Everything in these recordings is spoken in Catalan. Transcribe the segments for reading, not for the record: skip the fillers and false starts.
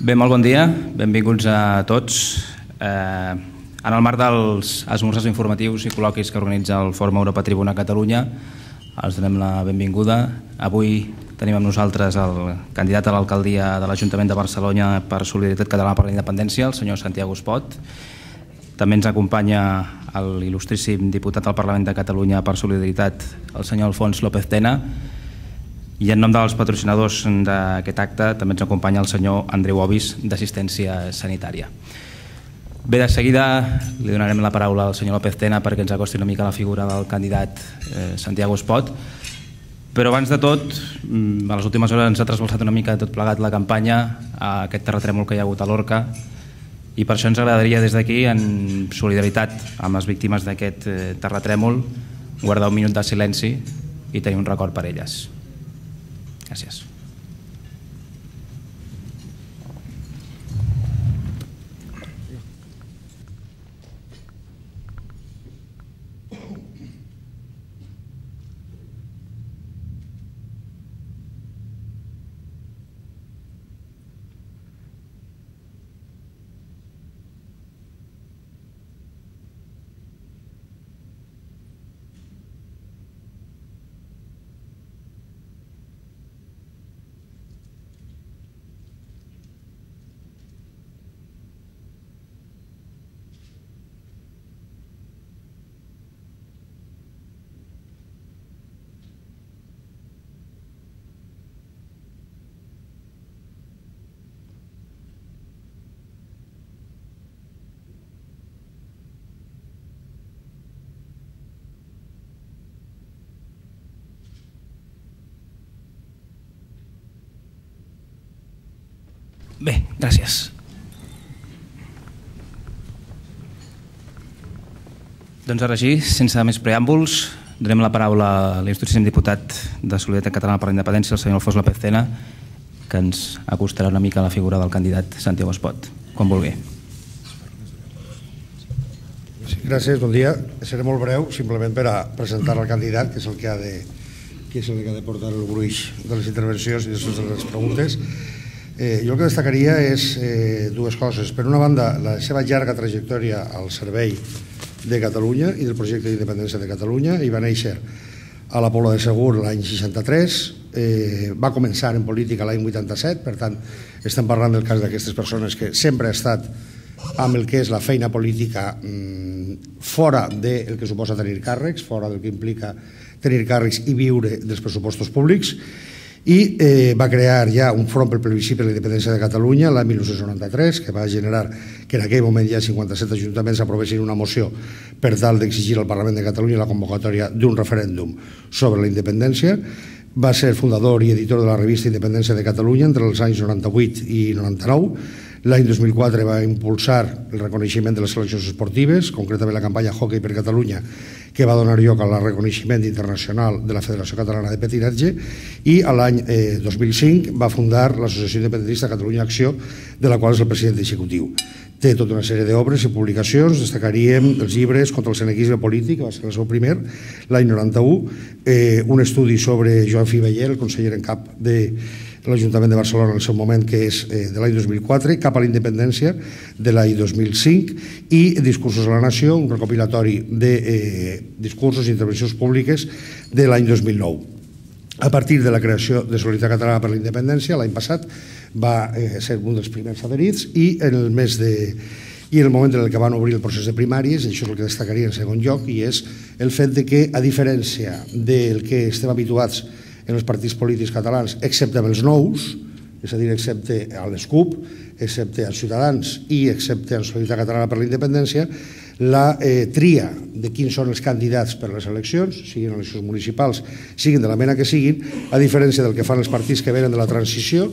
Bé, molt bon dia, benvinguts a tots. En el marc dels esmorzars informatius i col·loquis que organitza el Fòrum Europa Tribuna Catalunya, els donem la benvinguda. Avui tenim amb nosaltres el candidat a l'alcaldia de l'Ajuntament de Barcelona per Solidaritat Catalana per la Independència, el senyor Santiago Espot. També ens acompanya l'il·lustríssim diputat al Parlament de Catalunya per Solidaritat, el senyor Alfons López Tena. I en nom dels patrocinadors d'aquest acte també ens acompanya el senyor Andreu Obis, d'Assistència Sanitària. Bé, de seguida li donarem la paraula al senyor López Tena perquè ens acosti una mica la figura del candidat Santiago Espot. Però abans de tot, a les últimes hores ens ha trasbalsat una mica tot plegat la campanya a aquest terratrèmol que hi ha hagut a Lorca, i per això ens agradaria des d'aquí, en solidaritat amb les víctimes d'aquest terratrèmol, guardar un minut de silenci i tenir un record per elles. Gràcies. Bé, gràcies. Doncs ara sí, sense més preàmbuls, donem la paraula a l'il·lustríssim diputat de Solidaritat Catalana per la Independència, el senyor Alfons López Tena, que ens acostarà una mica a la figura del candidat Santiago Espot, quan vulgui. Gràcies, bon dia. Seré molt breu, simplement per a presentar el candidat, que és el que ha de portar el gruix de les intervencions i de les preguntes. Jo el que destacaria és dues coses. Per una banda, la seva llarga trajectòria al servei de Catalunya i del projecte d'independència de Catalunya. Ell va néixer a la Pobla de Segur l'any 63, va començar en política l'any 87, per tant estem parlant del cas d'aquestes persones que sempre ha estat amb el que és la feina política fora del que suposa tenir càrrecs, fora del que implica tenir càrrecs i viure dels pressupostos públics, i va crear ja un front pel plebiscit per la independència de Catalunya l'any 1993, que va generar que en aquell moment ja 57 ajuntaments aprovessin una moció per tal d'exigir al Parlament de Catalunya la convocatòria d'un referèndum sobre la independència. Va ser fundador i editor de la revista Independència de Catalunya entre els anys 98 i 99. L'any 2004 va impulsar el reconeixement de les seleccions esportives, concretament la campanya Hockey per Catalunya, que va donar lloc al reconeixement internacional de la Federació Catalana de Patinatge, i l'any 2005 va fundar l'Associació Independentista Catalunya Acció, de la qual és el president executiu. Té tota una sèrie d'obres i publicacions, destacaríem els llibres Contra el senequisme polític, que va ser el seu primer, l'any 91, un estudi sobre Joan Fibellé, el conseller en cap de l'Ajuntament de Barcelona en el seu moment, que és de l'any 2004, Cap a la independència, de l'any 2005, i Discursos a la Nació, un recopilatori de discursos i intervencions públiques de l'any 2009. A partir de la creació de Solidaritat Catalana per la Independència, l'any passat, va ser un dels primers adherits, i en el moment en què van obrir el procés de primàries, això és el que destacaria en segon lloc, i és el fet que, a diferència del que estem habituats en els partits polítics catalans, excepte amb els nous, és a dir, excepte a les CUP, excepte als Ciutadans i excepte a Solidaritat Catalana per la Independència, la tria de quins són els candidats per a les eleccions, siguin eleccions municipals, siguin de la mena que siguin, a diferència del que fan els partits que venen de la transició,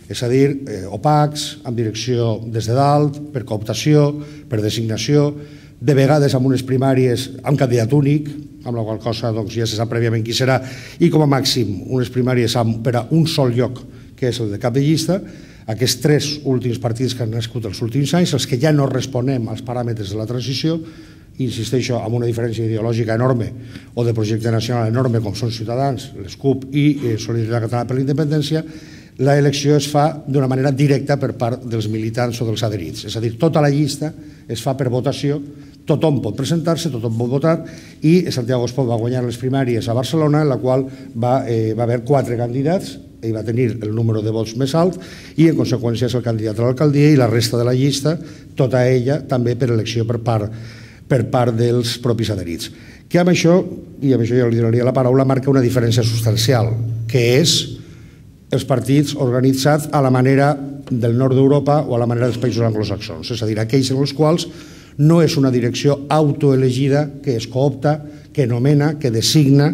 és a dir, opacs, amb direcció des de dalt, per cooptació, per designació, de vegades amb unes primàries amb candidat únic, amb la qual cosa ja se sap prèviament qui serà, i com a màxim unes primàries per a un sol lloc, que és el de cap de llista. Aquests tres últims partits que han nascut els últims anys, els que ja no responem als paràmetres de la transició, insisteixo, amb una diferència ideològica enorme o de projecte nacional enorme, com són Ciutadans, les CUP i Solidaritat Catalana per la Independència, l'elecció es fa d'una manera directa per part dels militants o dels adherits. És a dir, tota la llista es fa per votació, tothom pot presentar-se, tothom pot votar, i Santiago Espot va guanyar les primàries a Barcelona, en la qual va haver 4 candidats, ell va tenir el número de vots més alt i en conseqüència és el candidat a l'alcaldia, i la resta de la llista, tota ella també per elecció per part dels propis adherits. Que amb això, i amb això ja li donaria la paraula, marca una diferència substancial, que és els partits organitzats a la manera del nord d'Europa o a la manera dels països anglosaxons, és a dir, aquells en els quals no és una direcció autoelegida que es coopta, que nomena, que designa,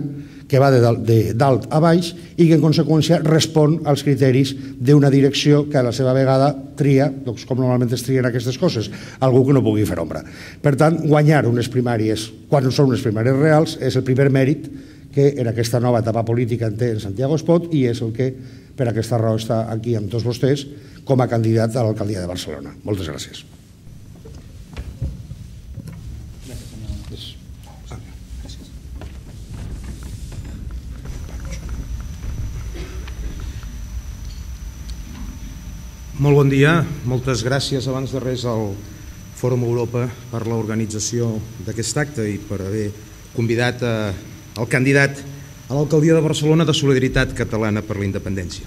que va de dalt a baix i que en conseqüència respon als criteris d'una direcció que a la seva vegada tria, doncs com normalment es trien aquestes coses, algú que no pugui fer ombra. Per tant, guanyar unes primàries, quan són unes primàries reals, és el primer mèrit que en aquesta nova etapa política en té en Santiago Espot i és el que per aquesta raó està aquí amb tots vostès com a candidat a l'alcaldia de Barcelona. Moltes gràcies. Molt bon dia, moltes gràcies abans de res al Fòrum Europa per l'organització d'aquest acte i per haver convidat el candidat a l'alcaldia de Barcelona de Solidaritat Catalana per la Independència.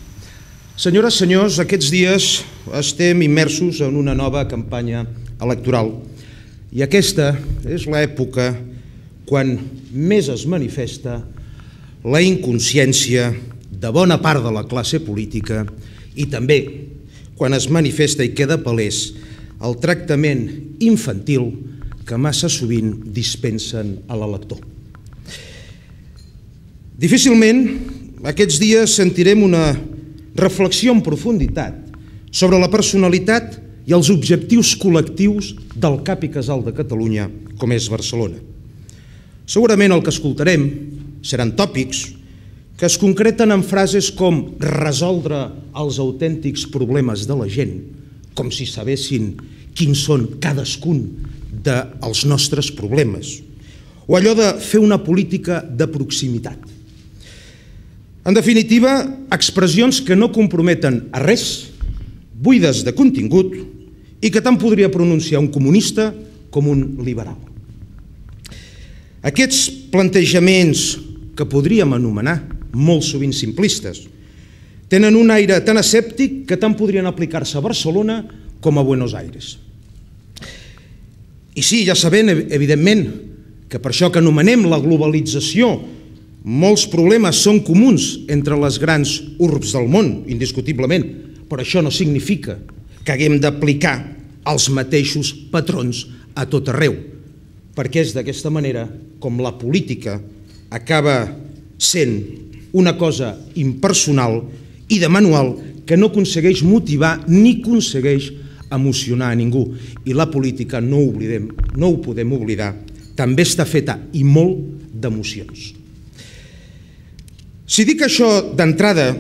Senyores, senyors, aquests dies estem immersos en una nova campanya electoral i aquesta és l'època quan més es manifesta la inconsciència de bona part de la classe política i també quan es manifesta i queda palès el tractament infantil que massa sovint dispensen a l'elector. Difícilment aquests dies sentirem una reflexió en profunditat sobre la personalitat i els objectius col·lectius del cap i casal de Catalunya, com és Barcelona. Segurament el que escoltarem seran tòpics que es concreten en frases com resoldre els autèntics problemes de la gent, com si sabessin quins són cadascun dels nostres problemes, o allò de fer una política de proximitat. En definitiva, expressions que no comprometen a res, buides de contingut i que tant podria pronunciar un comunista com un liberal. Aquests plantejaments que podríem anomenar molt sovint simplistes, tenen un aire tan escèptic que tant podrien aplicar-se a Barcelona com a Buenos Aires. I sí, ja sabem, evidentment, que per això que anomenem la globalització, molts problemes són comuns entre les grans urbs del món, indiscutiblement, però això no significa que haguem d'aplicar els mateixos patrons a tot arreu, perquè és d'aquesta manera com la política acaba sent una cosa impersonal i de manual que no aconsegueix motivar ni aconsegueix emocionar a ningú. I la política, no ho podem oblidar, també està feta i molt d'emocions. Si dic això d'entrada,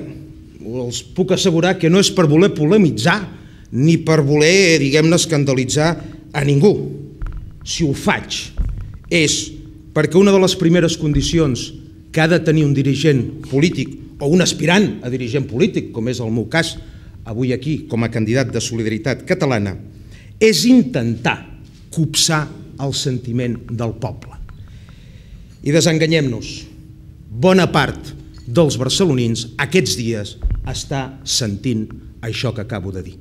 els puc assegurar que no és per voler polemitzar ni per voler, diguem-ne, escandalitzar a ningú. Si ho faig és perquè una de les primeres condicions que ha de tenir un dirigent polític o un aspirant a dirigent polític, com és el meu cas avui aquí com a candidat de Solidaritat Catalana, és intentar copsar el sentiment del poble. I desenganyem-nos, bona part dels barcelonins aquests dies està sentint això que acabo de dir.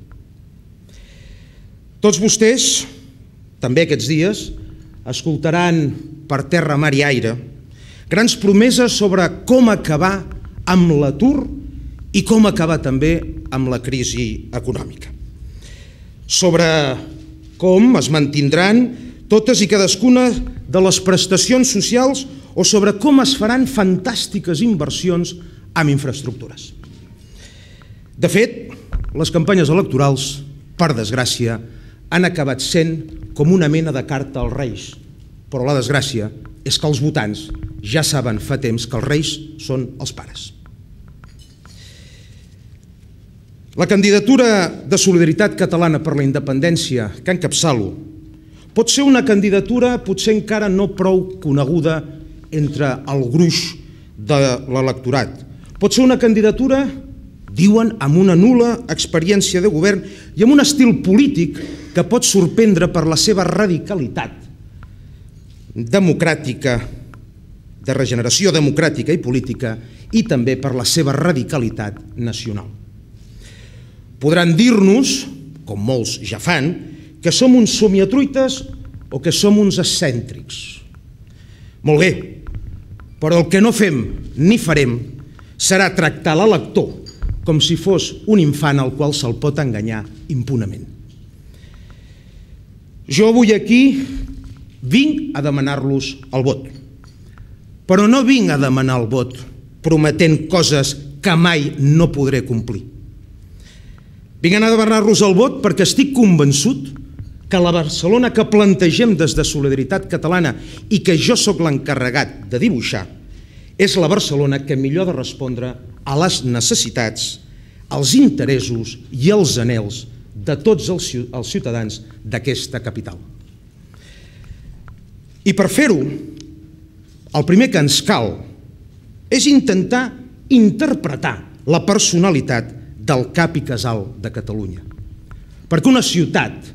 Tots vostès, també aquests dies, escoltaran per terra, mar i aire grans promeses sobre com acabar amb l'atur i com acabar també amb la crisi econòmica. Sobre com es mantindran totes i cadascuna de les prestacions socials o sobre com es faran fantàstiques inversions en infraestructures. De fet, les campanyes electorals, per desgràcia, han acabat sent com una mena de carta als Reis, però la desgràcia és que els votants ja saben fa temps que els Reis són els pares. La candidatura de Solidaritat Catalana per la Independència que encapçalo pot ser una candidatura potser encara no prou coneguda entre el gruix de l'electorat. Pot ser una candidatura diuen amb una nul·la experiència de govern i amb un estil polític que pot sorprendre per la seva radicalitat democràtica, de regeneració democràtica i política, i també per la seva radicalitat nacional. Podran dir-nos, com molts ja fan, que som uns somiatruites o que som uns excèntrics. Molt bé, però el que no fem ni farem serà tractar l'elector com si fos un infant al qual se'l pot enganyar impunament. Jo avui aquí vinc a demanar-los el vot, però no vinc a demanar el vot prometent coses que mai no podré complir. Vinc a demanar-los el vot perquè estic convençut que la Barcelona que plantegem des de Solidaritat Catalana i que jo sóc l'encarregat de dibuixar és la Barcelona que millor ha de respondre a les necessitats, als interessos i als anhels de tots els ciutadans d'aquesta capital. I per fer-ho, el primer que ens cal és intentar interpretar la personalitat del cap i casal de Catalunya. Perquè una ciutat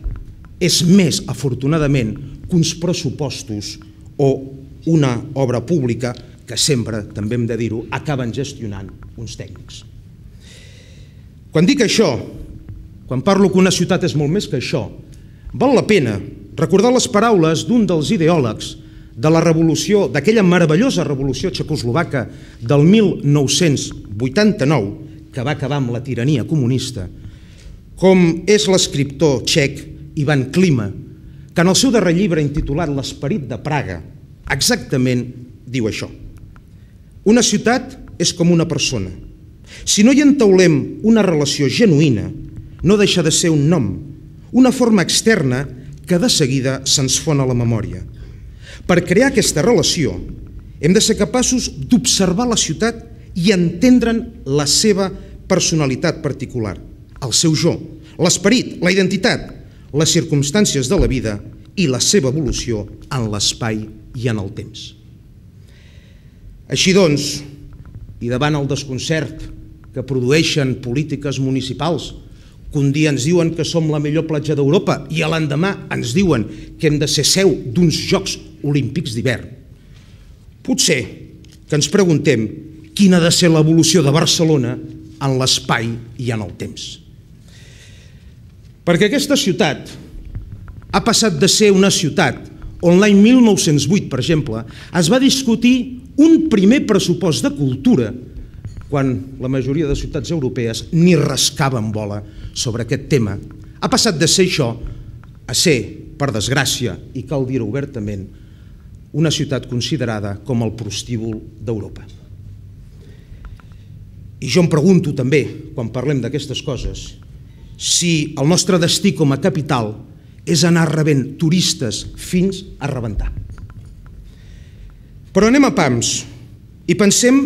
és més, afortunadament, que uns pressupostos o una obra pública que sempre, també hem de dir-ho, acaben gestionant uns tècnics. Quan dic això, quan parlo que una ciutat és molt més que això, val la pena recordar les paraules d'un dels ideòlegs de la revolució, d'aquella meravellosa revolució txecoslovaca del 1989, que va acabar amb la tirania comunista, com és l'escriptor txec Ivan Klima, que en el seu darrer llibre intitulat L'esperit de Praga, exactament diu això. Una ciutat és com una persona. Si no hi entaulem una relació genuïna, no deixa de ser un nom, una forma externa que de seguida se'ns fon a la memòria. Per crear aquesta relació, hem de ser capaços d'observar la ciutat i entendre'n la seva personalitat particular, el seu jo, l'esperit, la identitat, les circumstàncies de la vida i la seva evolució en l'espai i en el temps. Així doncs, i davant el desconcert que produeixen polítiques municipals, que un dia ens diuen que som la millor platja d'Europa i l'endemà ens diuen que hem de ser seu d'uns Jocs Olímpics d'hivern, potser que ens preguntem quina ha de ser l'evolució de Barcelona en l'espai i en el temps. Perquè aquesta ciutat ha passat de ser una ciutat on l'any 1908, per exemple, es va discutir un primer pressupost de cultura quan la majoria de ciutats europees ni rascaven bola sobre aquest tema. Ha passat de ser això a ser, per desgràcia, i cal dir-ho obertament, una ciutat considerada com el prostíbul d'Europa. I jo em pregunto també, quan parlem d'aquestes coses, si el nostre destí com a capital és anar rebent turistes fins a rebentar. Però anem a pams i pensem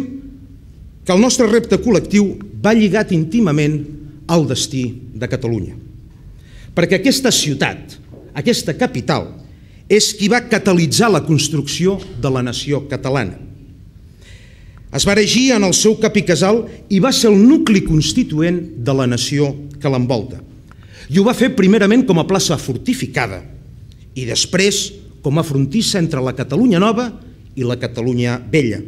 que el nostre repte col·lectiu va lligat íntimament al destí de Catalunya. Perquè aquesta ciutat, aquesta capital, és qui va catalitzar la construcció de la nació catalana. Es va erigir en el seu cap i casal i va ser el nucli constituent de la nació que l'envolta. I ho va fer primerament com a plaça fortificada i després com a frontissa entre la Catalunya Nova i la Catalunya Vella.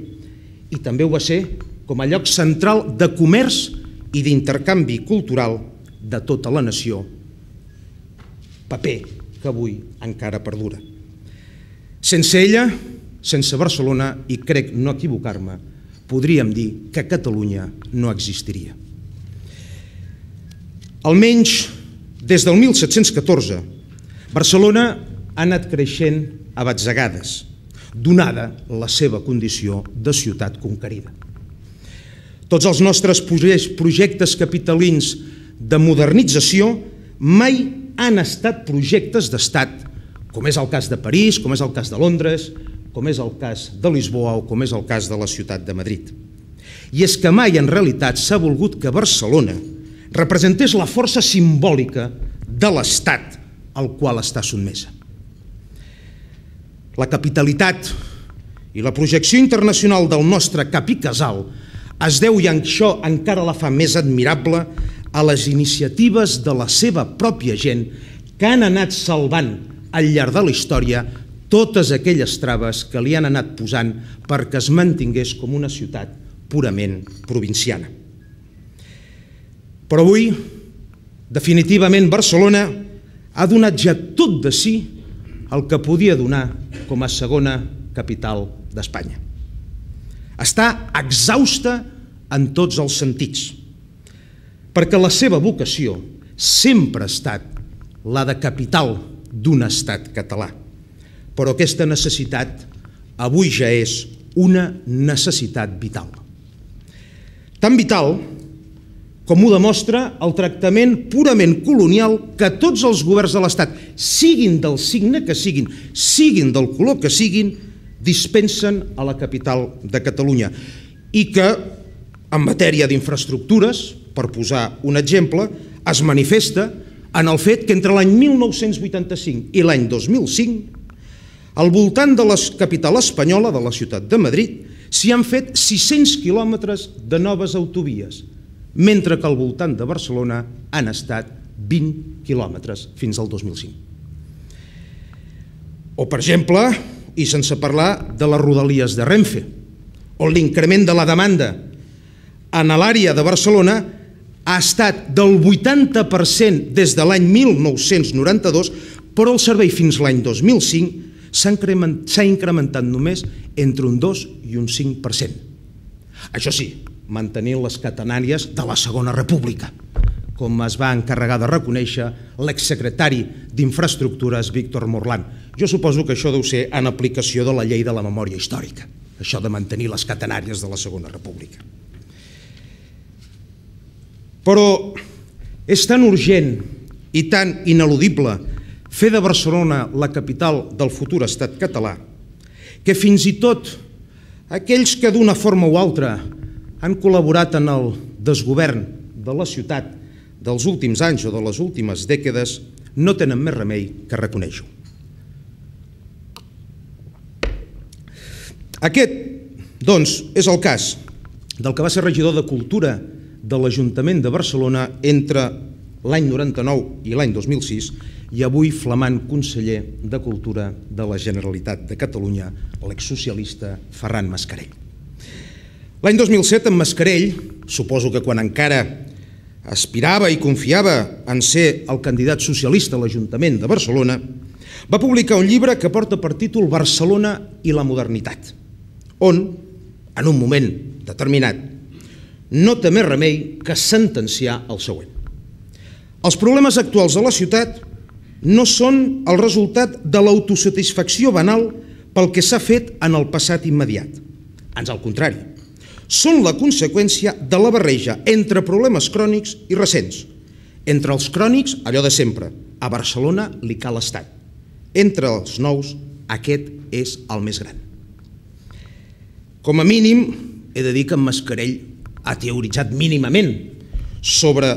I també ho va ser com a lloc central de comerç i d'intercanvi cultural de tota la nació, paper que avui encara perdura. Sense ella, sense Barcelona, i crec no equivocar-me, podríem dir que Catalunya no existiria. Almenys des del 1714, Barcelona ha anat creixent a batzegades, donada la seva condició de ciutat conquerida. Tots els nostres projectes capitalins de modernització mai han estat projectes d'estat, com és el cas de París, com és el cas de Londres, com és el cas de Lisboa o com és el cas de la ciutat de Madrid. I és que mai en realitat s'ha volgut que Barcelona representés la força simbòlica de l'estat al qual està sotmesa. La capitalitat i la projecció internacional del nostre cap i casal es deu, i això encara la fa més admirable, a les iniciatives de la seva pròpia gent que han anat salvant al llarg de la història totes aquelles traves que li han anat posant perquè es mantingués com una ciutat purament provinciana. Però avui, definitivament, Barcelona ha donat ja tot de si el que podia donar com a segona capital d'Espanya. Està exhausta en tots els sentits, perquè la seva vocació sempre ha estat la de capital d'un estat català. Però aquesta necessitat avui ja és una necessitat vital. Tan vital com ho demostra el tractament purament colonial que tots els governs de l'Estat, siguin del signe que siguin, siguin del color que siguin, dispensen a la capital de Catalunya i que, en matèria d'infraestructures, per posar un exemple, es manifesta en el fet que entre l'any 1985 i l'any 2005, al voltant de la capital espanyola, de la ciutat de Madrid, s'hi han fet 600 quilòmetres de noves autovies, mentre que al voltant de Barcelona han estat 20 quilòmetres fins al 2005. O, per exemple, i sense parlar de les rodalies de Renfe, on l'increment de la demanda en l'àrea de Barcelona ha estat del 80% des de l'any 1992, però el servei fins l'any 2005 s'ha incrementat només entre un 2 i un 5%. Això sí, mantenint les catenàries de la Segona República, com es va encarregar de reconèixer l'exsecretari d'Infraestructures Víctor Morlán. Jo suposo que això deu ser en aplicació de la llei de la memòria històrica, això de mantenir les catenàries de la Segona República. Però és tan urgent i tan ineludible fer de Barcelona la capital del futur estat català que fins i tot aquells que d'una forma o altra han col·laborat en el desgovern de la ciutat dels últims anys o de les últimes dècades no tenen més remei que reconèixer-ho. Aquest, doncs, és el cas del que va ser regidor de Cultura de l'Ajuntament de Barcelona entre l'any 99 i l'any 2006 i avui flamant conseller de Cultura de la Generalitat de Catalunya, l'exsocialista Ferran Mascarell. L'any 2007, en Mascarell, suposo que quan encara aspirava i confiava en ser el candidat socialista a l'Ajuntament de Barcelona, va publicar un llibre que porta per títol Barcelona i la modernitat, on, en un moment determinat, no té més remei que sentenciar el següent. Els problemes actuals de la ciutat no són el resultat de l'autosatisfacció banal pel que s'ha fet en el passat immediat. Ans al contrari, són la conseqüència de la barreja entre problemes crònics i recents. Entre els crònics, allò de sempre, a Barcelona li cal estat. Entre els nous, aquest és el més gran. Com a mínim, he de dir que en Mascarell ha teoritzat mínimament sobre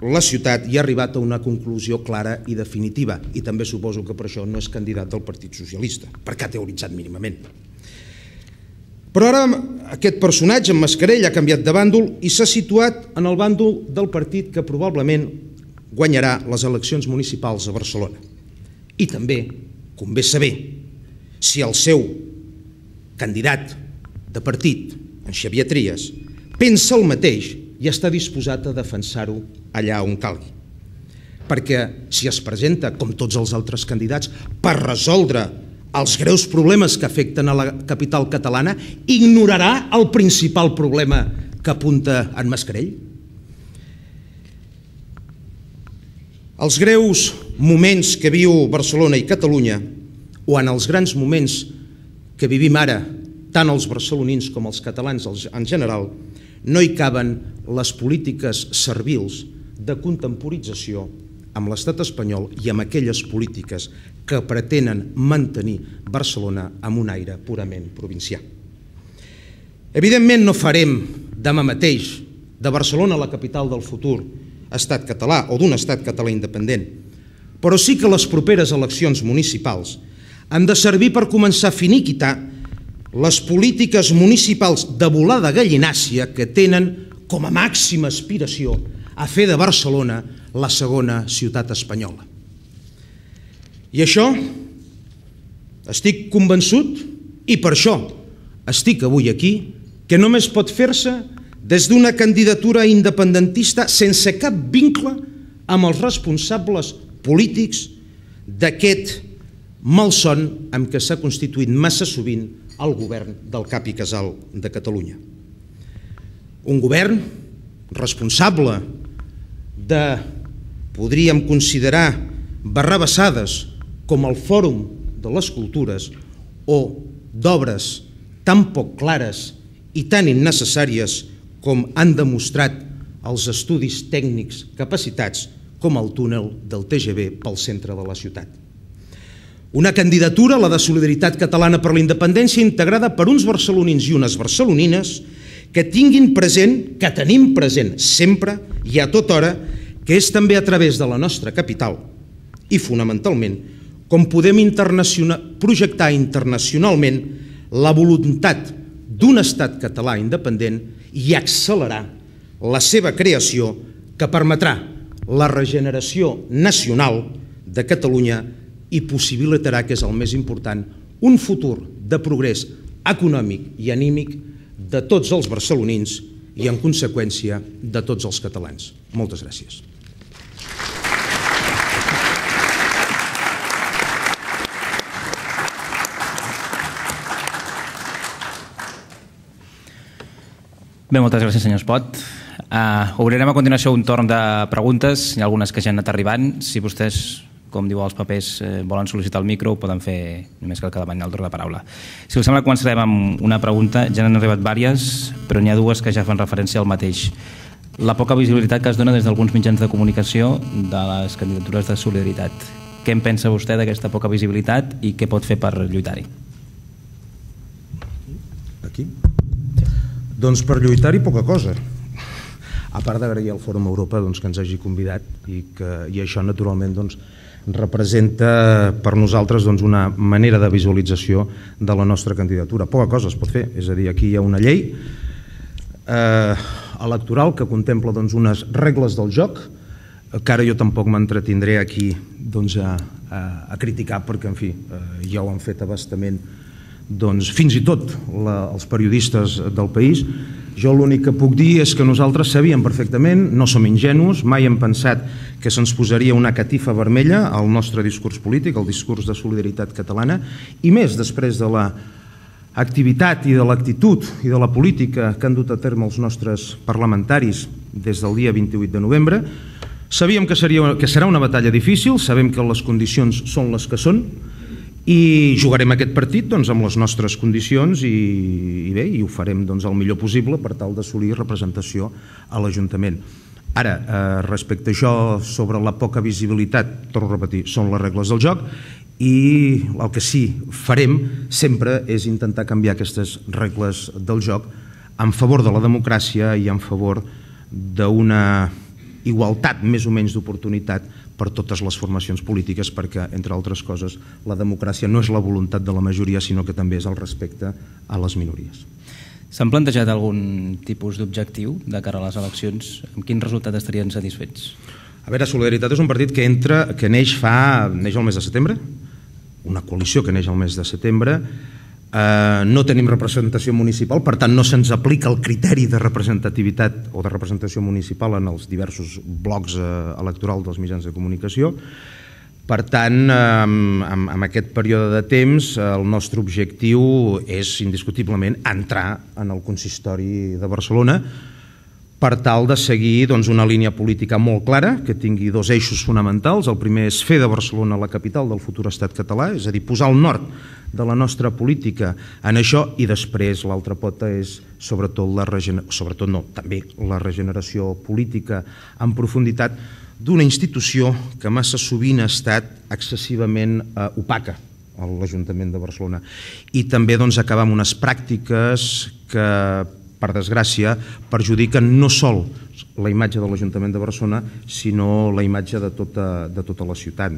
la ciutat i ha arribat a una conclusió clara i definitiva, i també suposo que per això no és candidat del Partit Socialista, perquè ha teoritzat mínimament. Però ara aquest personatge, en Mascarell, ha canviat de bàndol i s'ha situat en el bàndol del partit que probablement guanyarà les eleccions municipals a Barcelona. I també convé saber si el seu candidat de partit, en Xavier Trias, pensa el mateix i està disposat a defensar-ho allà on calgui. Perquè si es presenta, com tots els altres candidats, per resoldre els greus problemes que afecten a la capital catalana, ignorarà el principal problema que apunta en Mascarell? Els greus moments que viu Barcelona i Catalunya, o en els grans moments que vivim ara, tant els barcelonins com els catalans en general, no hi caben les polítiques servils de contemporització amb l'estat espanyol i amb aquelles polítiques que pretenen mantenir Barcelona amb un aire purament provincià. Evidentment no farem demà mateix de Barcelona la capital del futur estat català o d'un estat català independent, però sí que les properes eleccions municipals han de servir per començar a finiquitar les polítiques municipals de volada gallinàcia que tenen com a màxima aspiració a fer de Barcelona la segona ciutat espanyola. I això estic convençut, i per això estic avui aquí, que només pot fer-se des d'una candidatura independentista sense cap vincle amb els responsables polítics d'aquest malson amb què s'ha constituït massa sovint el govern del cap i casal de Catalunya. Un govern responsable de, podríem considerar, barrabassades com el Fòrum de les Cultures o d'obres tan poc clares i tan innecessàries com han demostrat els estudis tècnics capacitats com el túnel del TGV pel centre de la ciutat. Una candidatura, la de Solidaritat Catalana per la Independència, integrada per uns barcelonins i unes barcelonines que tinguin present, que tenim present sempre i a tota hora, que és també a través de la nostra capital i fonamentalment com podem projectar internacionalment la voluntat d'un estat català independent i accelerar la seva creació que permetrà la regeneració nacional de Catalunya i possibilitarà, que és el més important, un futur de progrés econòmic i anímic de tots els barcelonins i, en conseqüència, de tots els catalans. Moltes gràcies. Bé, moltes gràcies, senyor Espot. Obrirem a continuació un torn de preguntes. Hi ha algunes que ja han anat arribant. Si vostès, com diu els papers, volen sol·licitar el micro, ho poden fer només cal que demanin el torn de paraula. Si us sembla, començarem amb una pregunta. Ja n'han arribat diverses, però n'hi ha dues que ja fan referència al mateix. La poca visibilitat que es dona des d'alguns mitjans de comunicació de les candidatures de Solidaritat. Què en pensa vostè d'aquesta poca visibilitat i què pot fer per lluitar-hi? Aquí? Doncs per lluitar-hi poca cosa. A part d'agrair al Fòrum Europa que ens hagi convidat i això naturalment representa per nosaltres una manera de visualització de la nostra candidatura. Poca cosa es pot fer, és a dir, aquí hi ha una llei electoral que contempla unes regles del joc que ara jo tampoc m'entretindré aquí a criticar perquè, en fi, ja ho han fet a bastament fins i tot els periodistes del país. Jo l'únic que puc dir és que nosaltres sabíem perfectament, no som ingenus, mai hem pensat que se'ns posaria una catifa vermella al nostre discurs polític, al discurs de Solidaritat Catalana, i més després de l'activitat i de l'actitud i de la política que han dut a terme els nostres parlamentaris des del dia 28 de novembre. Sabíem que serà una batalla difícil, sabem que les condicions són les que són, i jugarem aquest partit amb les nostres condicions i bé, i ho farem el millor possible per tal d'assolir representació a l'Ajuntament. Ara, respecte a això, sobre la poca visibilitat, torno a repetir, són les regles del joc i el que sí farem sempre és intentar canviar aquestes regles del joc en favor de la democràcia i en favor d'una igualtat més o menys d'oportunitat per totes les formacions polítiques perquè, entre altres coses, la democràcia no és la voluntat de la majoria, sinó que també és el respecte a les minories. S'han plantejat algun tipus d'objectiu de cara a les eleccions? Amb quin resultat estarien satisfets? A veure, Solidaritat és un partit que neix al mes de setembre, una coalició que neix al mes de setembre. No tenim representació municipal, per tant no se'ns aplica el criteri de representativitat o de representació municipal en els diversos blocs electorals dels mitjans de comunicació. Per tant, en aquest període de temps, el nostre objectiu és indiscutiblement entrar en el consistori de Barcelona per tal de seguir una línia política molt clara, que tingui dos eixos fonamentals. El primer és fer de Barcelona la capital del futur estat català, és a dir, posar el nord de la nostra política en això, i després l'altra pota és també la regeneració política en profunditat d'una institució que massa sovint ha estat excessivament opaca, l'Ajuntament de Barcelona, i també acabar amb unes pràctiques que, per desgràcia, perjudiquen no sol la imatge de l'Ajuntament de Barcelona, sinó la imatge de tota la ciutat.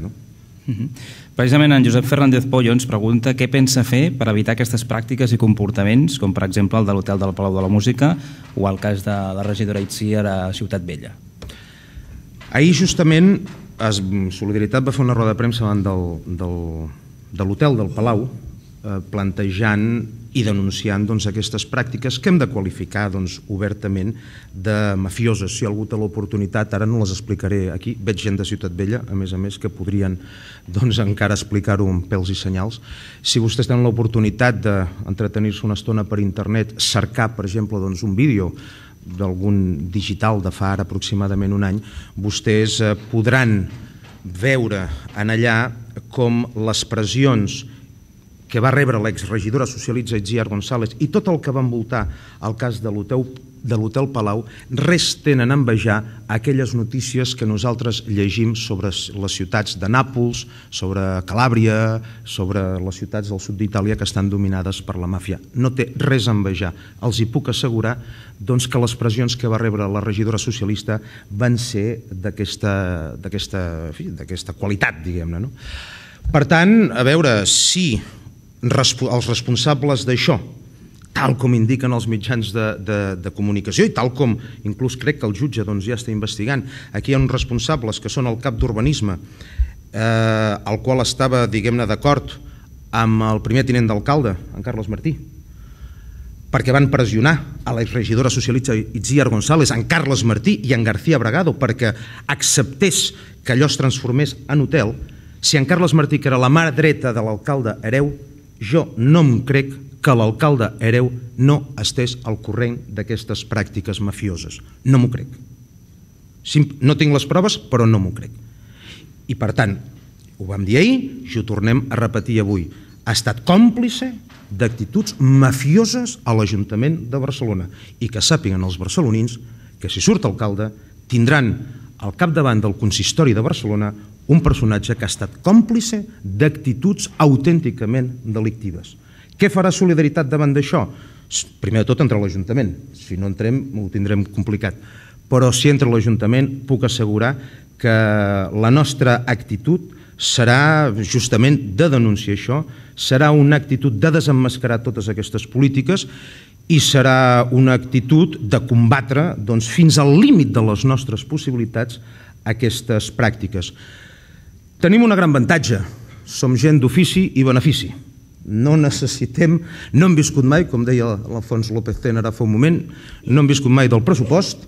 Precisament en Josep Fernández Pollo ens pregunta què pensa fer per evitar aquestes pràctiques i comportaments, com per exemple el de l'Hotel del Palau de la Música o el cas de la regidora Itziar a Ciutat Vella. Ahir justament Solidaritat va fer una roda de premsa davant de l'Hotel del Palau plantejant i denunciant aquestes pràctiques que hem de qualificar obertament de mafioses. Si algú té l'oportunitat, ara no les explicaré aquí, veig gent de Ciutat Vella, a més, que podrien encara explicar-ho amb pèls i senyals. Si vostès tenen l'oportunitat d'entretenir-se una estona per internet, cercar, per exemple, un vídeo d'algun digital de fa ara aproximadament un any, vostès podran veure en allà com les pressions que va rebre l'exregidora socialista Itziar González i tot el que va envoltar el cas de l'Hotel Palau res tenen a envejar aquelles notícies que nosaltres llegim sobre les ciutats de Nàpols, sobre Calàbria, sobre les ciutats del sud d'Itàlia que estan dominades per la màfia. No té res a envejar. Els hi puc assegurar que les pressions que va rebre la regidora socialista van ser d'aquesta qualitat, diguem-ne. Per tant, a veure, si els responsables d'això, tal com indiquen els mitjans de comunicació i tal com inclús crec que el jutge ja està investigant, aquí hi ha uns responsables que són el cap d'urbanisme, el qual estava, diguem-ne, d'acord amb el primer tinent d'alcalde, en Carles Martí, perquè van pressionar a l'exregidora socialista Itziar González, en Carles Martí i en García Bragado perquè acceptés que allò es transformés en hotel. Si en Carles Martí, que era la mà dreta de l'alcalde hereu, jo no em crec que l'alcalde hereu no estés al corrent d'aquestes pràctiques mafioses. No m'ho crec. No tinc les proves, però no m'ho crec. I per tant, ho vam dir ahir i ho tornem a repetir avui. Ha estat còmplice d'actituds mafioses a l'Ajuntament de Barcelona i que sàpiguen els barcelonins que si surt alcalde tindran al capdavant del consistori de Barcelona un personatge que ha estat còmplice d'actituds autènticament delictives. Què farà Solidaritat davant d'això? Primer de tot entra a l'Ajuntament. Si no entrem ho tindrem complicat. Però si entra a l'Ajuntament puc assegurar que la nostra actitud serà justament de denunciar això, serà una actitud de desemmascarar totes aquestes polítiques i serà una actitud de combatre fins al límit de les nostres possibilitats aquestes pràctiques. Tenim un gran avantatge, som gent d'ofici i benefici. No necessitem, no hem viscut mai, com deia l'Alfons López Tena ara fa un moment, no hem viscut mai del pressupost,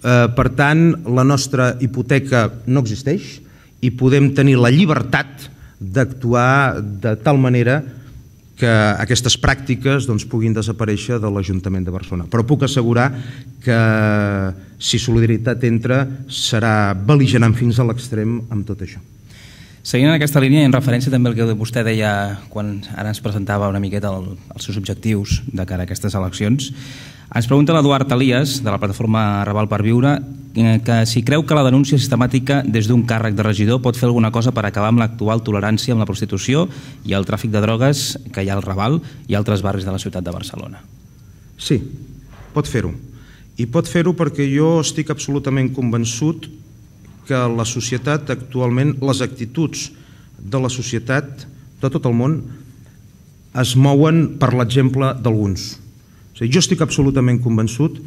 per tant la nostra hipoteca no existeix i podem tenir la llibertat d'actuar de tal manera que aquestes pràctiques puguin desaparèixer de l'Ajuntament de Barcelona. Però puc assegurar que si Solidaritat entra serà bel·ligerant fins a l'extrem amb tot això. Seguint en aquesta línia, en referència també al que vostè deia quan ara ens presentava una miqueta els seus objectius de cara a aquestes eleccions, ens pregunta l'Eduard Elias, de la plataforma Raval per Viure, que si creu que la denúncia sistemàtica des d'un càrrec de regidor pot fer alguna cosa per acabar amb l'actual tolerància amb la prostitució i el tràfic de drogues que hi ha al Raval i altres barris de la ciutat de Barcelona. Sí, pot fer-ho. I pot fer-ho perquè jo estic absolutament convençut que la societat actualment, les actituds de la societat de tot el món es mouen per l'exemple d'alguns. Jo estic absolutament convençut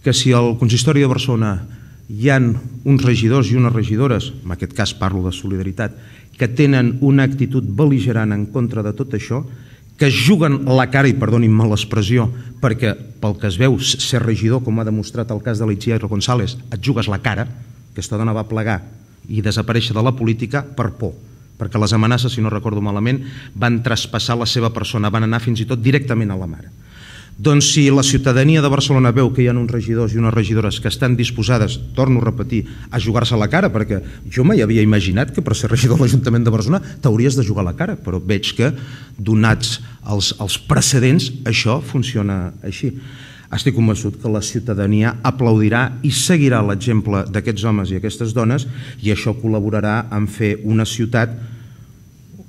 que si al consistori de Barcelona hi ha uns regidors i unes regidores, en aquest cas parlo de Solidaritat, que tenen una actitud bel·ligerant en contra de tot això, que es juguen la cara, i perdonin-me l'expressió, perquè pel que es veu ser regidor, com ha demostrat el cas de l'Itziar González, et jugues la cara. Aquesta dona va plegar i desaparèixer de la política per por, perquè les amenaces, si no recordo malament, van traspassar la seva persona, van anar fins i tot directament a la mare. Doncs si la ciutadania de Barcelona veu que hi ha uns regidors i unes regidores que estan disposades, torno a repetir, a jugar-se la cara, perquè jo mai havia imaginat que per ser regidor de l'Ajuntament de Barcelona t'hauries de jugar la cara, però veig que, donats els precedents, això funciona així. Estic convençut que la ciutadania aplaudirà i seguirà l'exemple d'aquests homes i aquestes dones i això col·laborarà en fer una ciutat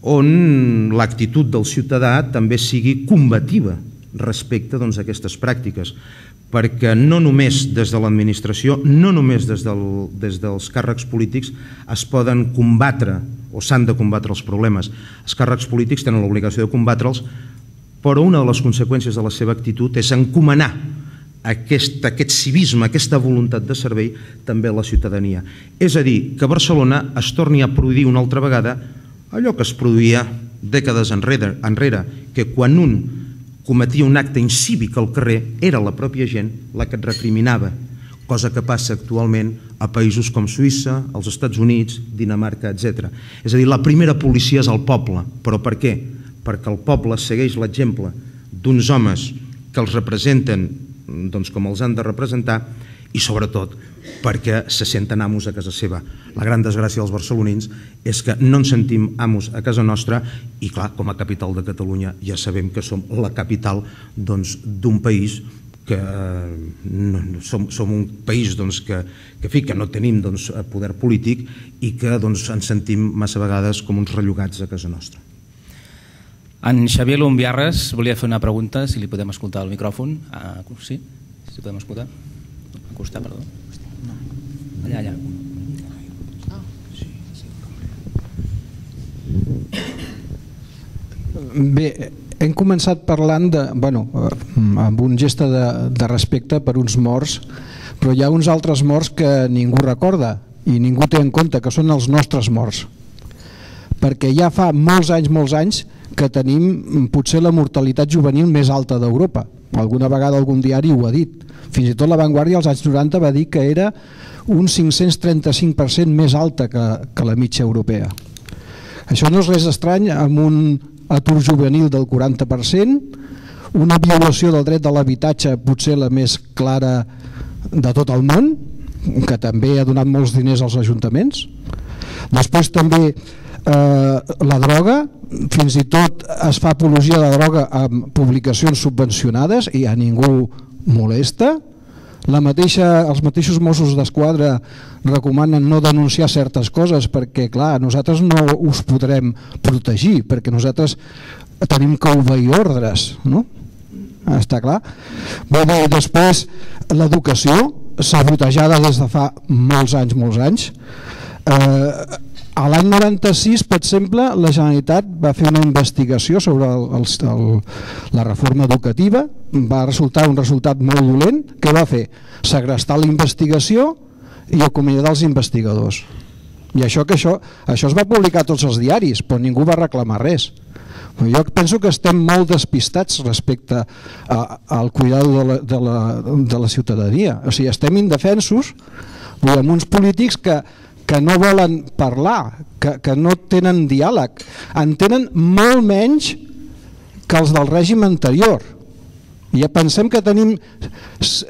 on l'actitud del ciutadà també sigui combativa respecte a aquestes pràctiques, perquè no només des de l'administració, no només des dels càrrecs polítics es poden combatre o s'han de combatre els problemes. Els càrrecs polítics tenen l'obligació de combatre'ls, però una de les conseqüències de la seva actitud és encomanar aquest civisme, aquesta voluntat de servei també a la ciutadania. És a dir, que a Barcelona es torni a produir una altra vegada allò que es produïa dècades enrere, que quan un cometia un acte incívic al carrer era la pròpia gent la que et recriminava, cosa que passa actualment a països com Suïssa, als Estats Units, Dinamarca, etc. És a dir, la primera policia és el poble. Però per què? Perquè el poble segueix l'exemple d'uns homes que els representen com els han de representar i sobretot perquè se senten amos a casa seva. La gran desgràcia dels barcelonins és que no ens sentim amos a casa nostra i clar, com a capital de Catalunya ja sabem que som la capital d'un país que som un país que no tenim poder polític i que ens sentim massa vegades com uns rellogats a casa nostra. En Xavier Lumbiarres volia fer una pregunta, si li podem escoltar el micròfon. Sí? Si podem escoltar? Al costat, perdó. Allà. Bé, hem començat parlant amb un gest de respecte per uns morts, però hi ha uns altres morts que ningú recorda i ningú té en compte, que són els nostres morts. Perquè ja fa molts anys que tenim potser la mortalitat juvenil més alta d'Europa. Alguna vegada algun diari ho ha dit. Fins i tot La Vanguardia als anys 90 va dir que era un 535% més alta que la mitja europea. Això no és res estrany amb un atur juvenil del 40%, una violació del dret de l'habitatge potser la més clara de tot el món, que també ha donat molts diners als ajuntaments. Després també la droga, fins i tot es fa apologia de la droga amb publicacions subvencionades i a ningú molesta. Els mateixos Mossos d'Esquadra recomanen no denunciar certes coses perquè clar, nosaltres no us podrem protegir perquè nosaltres tenim que obeir ordres, no? Està clar? Després l'educació sabotejada des de fa molts anys. A l'any 96, per exemple, la Generalitat va fer una investigació sobre la reforma educativa, va resultar un resultat molt dolent. Què va fer? Segrestar la investigació i acomiadar els investigadors. I això es va publicar a tots els diaris, però ningú va reclamar res. Jo penso que estem molt despistats respecte al cuidado de la ciutadania. O sigui, estem indefensos amb uns polítics que no volen parlar, que no tenen diàleg, en tenen molt menys que els del règim anterior. Ja pensem que tenim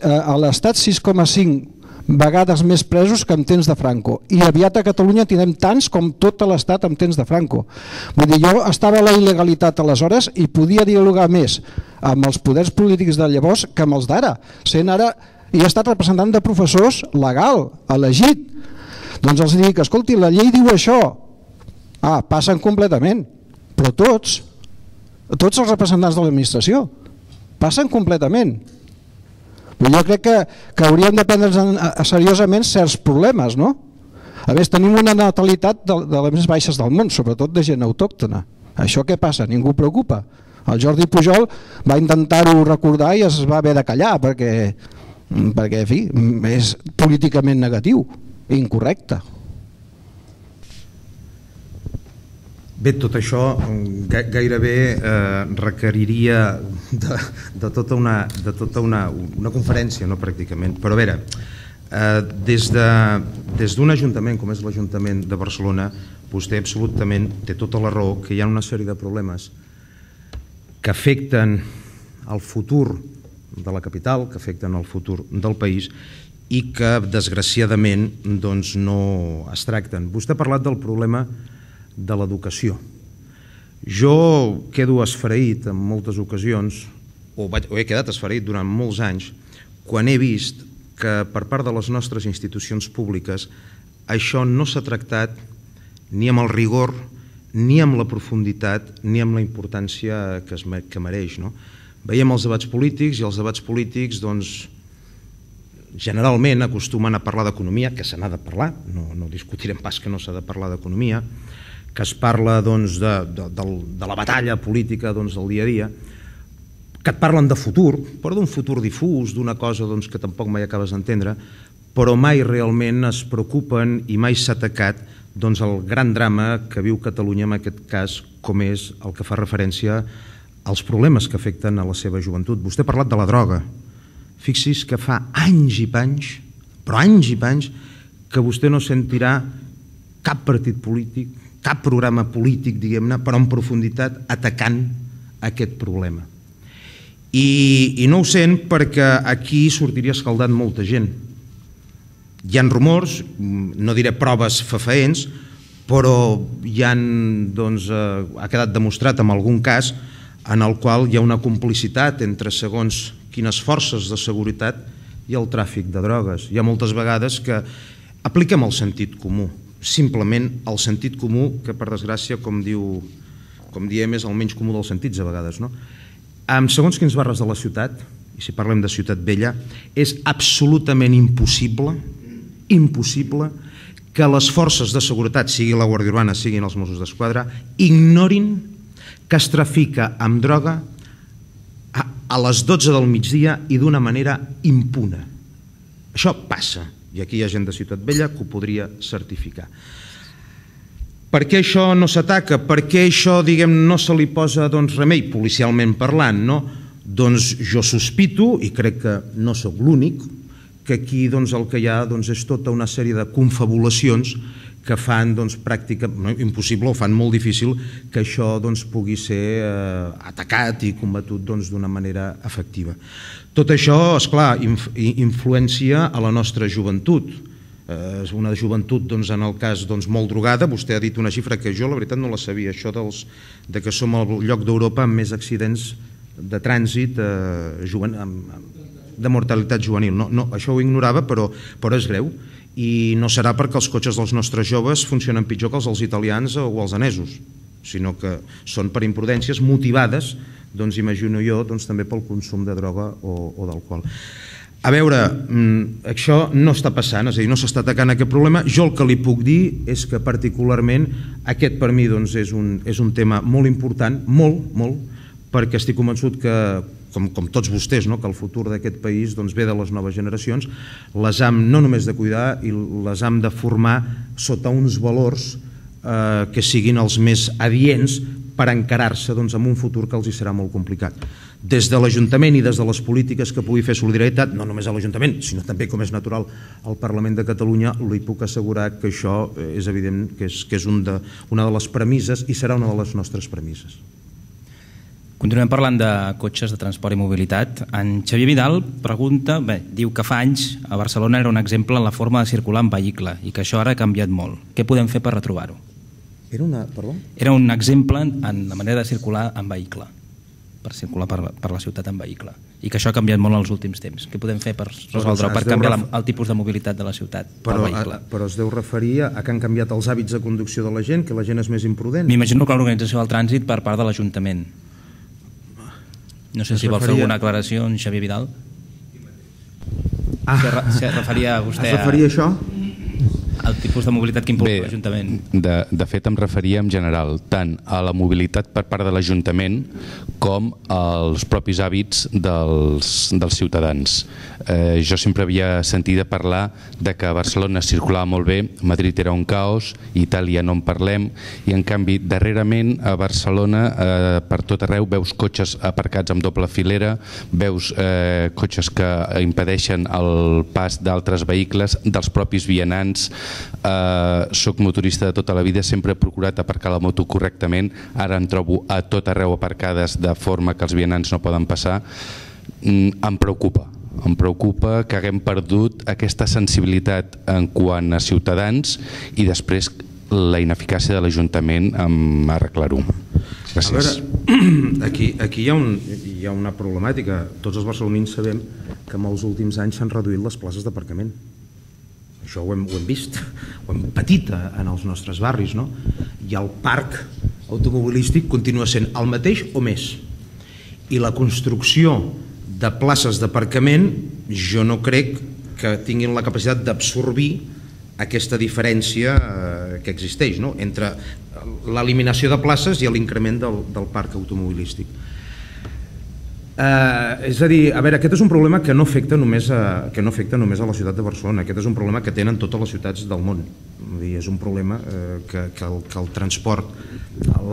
a l'Estat 6,5 vegades més presos que en temps de Franco i aviat a Catalunya tindrem tants com tot l'Estat en temps de Franco. Vull dir, jo estava a la il·legalitat aleshores i podia dialogar més amb els poders polítics de llavors que amb els d'ara. Sent ara, he estat representant de professors legal, elegit. Doncs els dic, escolti, la llei diu això. Passen completament. Però tots els representants de l'administració, passen completament. Jo crec que hauríem de prendre's seriosament certs problemes, no? A més, tenim una natalitat de les més baixes del món, sobretot de gent autòctona. Això què passa? Ningú preocupa. El Jordi Pujol va intentar-ho recordar i es va haver de callar perquè en fi, és políticament negatiu, incorrecte. Bé, tot això gairebé requeriria de tota una conferència, no pràcticament. Però a veure, des d'un ajuntament com és l'Ajuntament de Barcelona, vostè absolutament té tota la raó que hi ha una sèrie de problemes que afecten el futur de la capital, que afecten el futur del país i que desgraciadament no es tracten. Vostè ha parlat del problema de l'educació. Jo quedo esfereït en moltes ocasions, o he quedat esfereït durant molts anys, quan he vist que per part de les nostres institucions públiques això no s'ha tractat ni amb el rigor, ni amb la profunditat, ni amb la importància que mereix. veiem els debats polítics i els debats polítics generalment acostumen a parlar d'economia, que se n'ha de parlar, no discutirem pas que no s'ha de parlar d'economia, que es parla de la batalla política del dia a dia, que et parlen de futur, però d'un futur difús, d'una cosa que tampoc mai acabes d'entendre, però mai realment es preocupen i mai s'ha atacat el gran drama que viu Catalunya, en aquest cas, com és el que fa referència als problemes que afecten a la seva joventut. Vostè ha parlat de la droga. Fixi's que fa anys i panys, però anys i panys, que vostè no sentirà cap partit polític, cap programa polític, diguem-ne, però en profunditat atacant aquest problema. I no ho sent perquè aquí sortiria escaldat molta gent. Hi ha rumors, no diré proves fefaents, però ha quedat demostrat en algun cas en el qual hi ha una complicitat entre segons quines forces de seguretat i el tràfic de drogues. Hi ha moltes vegades que apliquem el sentit comú, simplement el sentit comú, que per desgràcia, com diem, és el menys comú dels sentits a vegades, no? En segons quins barris de la ciutat, i si parlem de Ciutat Vella, és absolutament impossible que les forces de seguretat, sigui la Guàrdia Urbana, siguin els Mossos d'Esquadra, ignorin que es trafica amb droga a les 12 del migdia i d'una manera impune. Això passa, i aquí hi ha gent de Ciutat Vella que ho podria certificar. Per què això no s'ataca? Per què això, no se li posa remei, policialment parlant, no? Doncs jo sospito, i crec que no sóc l'únic, que aquí el que hi ha és tota una sèrie de confabulacions que fan pràcticament impossible o fan molt difícil que això pugui ser atacat i combatut d'una manera efectiva. Tot això, esclar, influencia a la nostra joventut. És una joventut, en el cas, molt drogada. Vostè ha dit una xifra que jo, la veritat, no la sabia, això de que som el lloc d'Europa amb més accidents de trànsit de mortalitat juvenil. No, això ho ignorava, però és greu. I no serà perquè els cotxes dels nostres joves funcionen pitjor que els dels italians o els danesos, sinó que són per imprudències motivades, imagino jo, també pel consum de droga o d'alcohol. A veure, això no està passant, és a dir, no s'està atacant aquest problema. Jo el que li puc dir és que particularment aquest per mi és un tema molt important, molt, perquè estic convençut que, com tots vostès, que el futur d'aquest país ve de les noves generacions, les hem no només de cuidar, i les hem de formar sota uns valors que siguin els més adients per encarar-se en un futur que els hi serà molt complicat. Des de l'Ajuntament i des de les polítiques que pugui fer solidaritat, no només a l'Ajuntament, sinó també, com és natural, al Parlament de Catalunya, li puc assegurar que això és evident que és una de les premisses i serà una de les nostres premisses. Continuem parlant de cotxes de transport i mobilitat. En Xavier Vidal pregunta, diu que fa anys a Barcelona era un exemple en la forma de circular en vehicle i que això ara ha canviat molt. Què podem fer per retrobar-ho? Era un exemple en la manera de circular en vehicle, per circular per la ciutat en vehicle, i que això ha canviat molt els últims temps. Què podem fer per resoldre-ho, per canviar el tipus de mobilitat de la ciutat pel vehicle? Però es deu referir a que han canviat els hàbits de conducció de la gent, que la gent és més imprudent? M'imagino que l'organització del trànsit per part de l'Ajuntament. No sé si vol fer alguna aclaració en Xavier Vidal. Se referia vostè a això? El tipus de mobilitat que impulsa l'Ajuntament. De fet, em referia en general tant a la mobilitat per part de l'Ajuntament com als propis hàbits dels ciutadans. Jo sempre havia sentit parlar de que a Barcelona circulava molt bé, Madrid era un caos, Itàlia no en parlem, i en canvi darrerament a Barcelona per tot arreu veus cotxes aparcats amb doble filera, veus cotxes que impedeixen el pas d'altres vehicles, dels propis vianants. Soc motorista de tota la vida, sempre he procurat aparcar la moto correctament, ara em trobo a tot arreu aparcades de forma que els vianants no poden passar. Em preocupa que haguem perdut aquesta sensibilitat en quant a ciutadans i després la ineficàcia de l'Ajuntament en arreglar-ho. Gràcies. A veure, aquí hi ha una problemàtica. Tots els barcelonins sabem que en els últims anys s'han reduït les places d'aparcament. Això ho hem vist, ho hem patit en els nostres barris, i el parc automobilístic continua sent el mateix o més. i la construcció de places d'aparcament jo no crec que tinguin la capacitat d'absorbir aquesta diferència que existeix, no?, entre l'eliminació de places i l'increment del parc automobilístic. És a dir, a veure, aquest és un problema que no afecta només a la ciutat de Barcelona, aquest és un problema que tenen totes les ciutats del món. És un problema que el transport,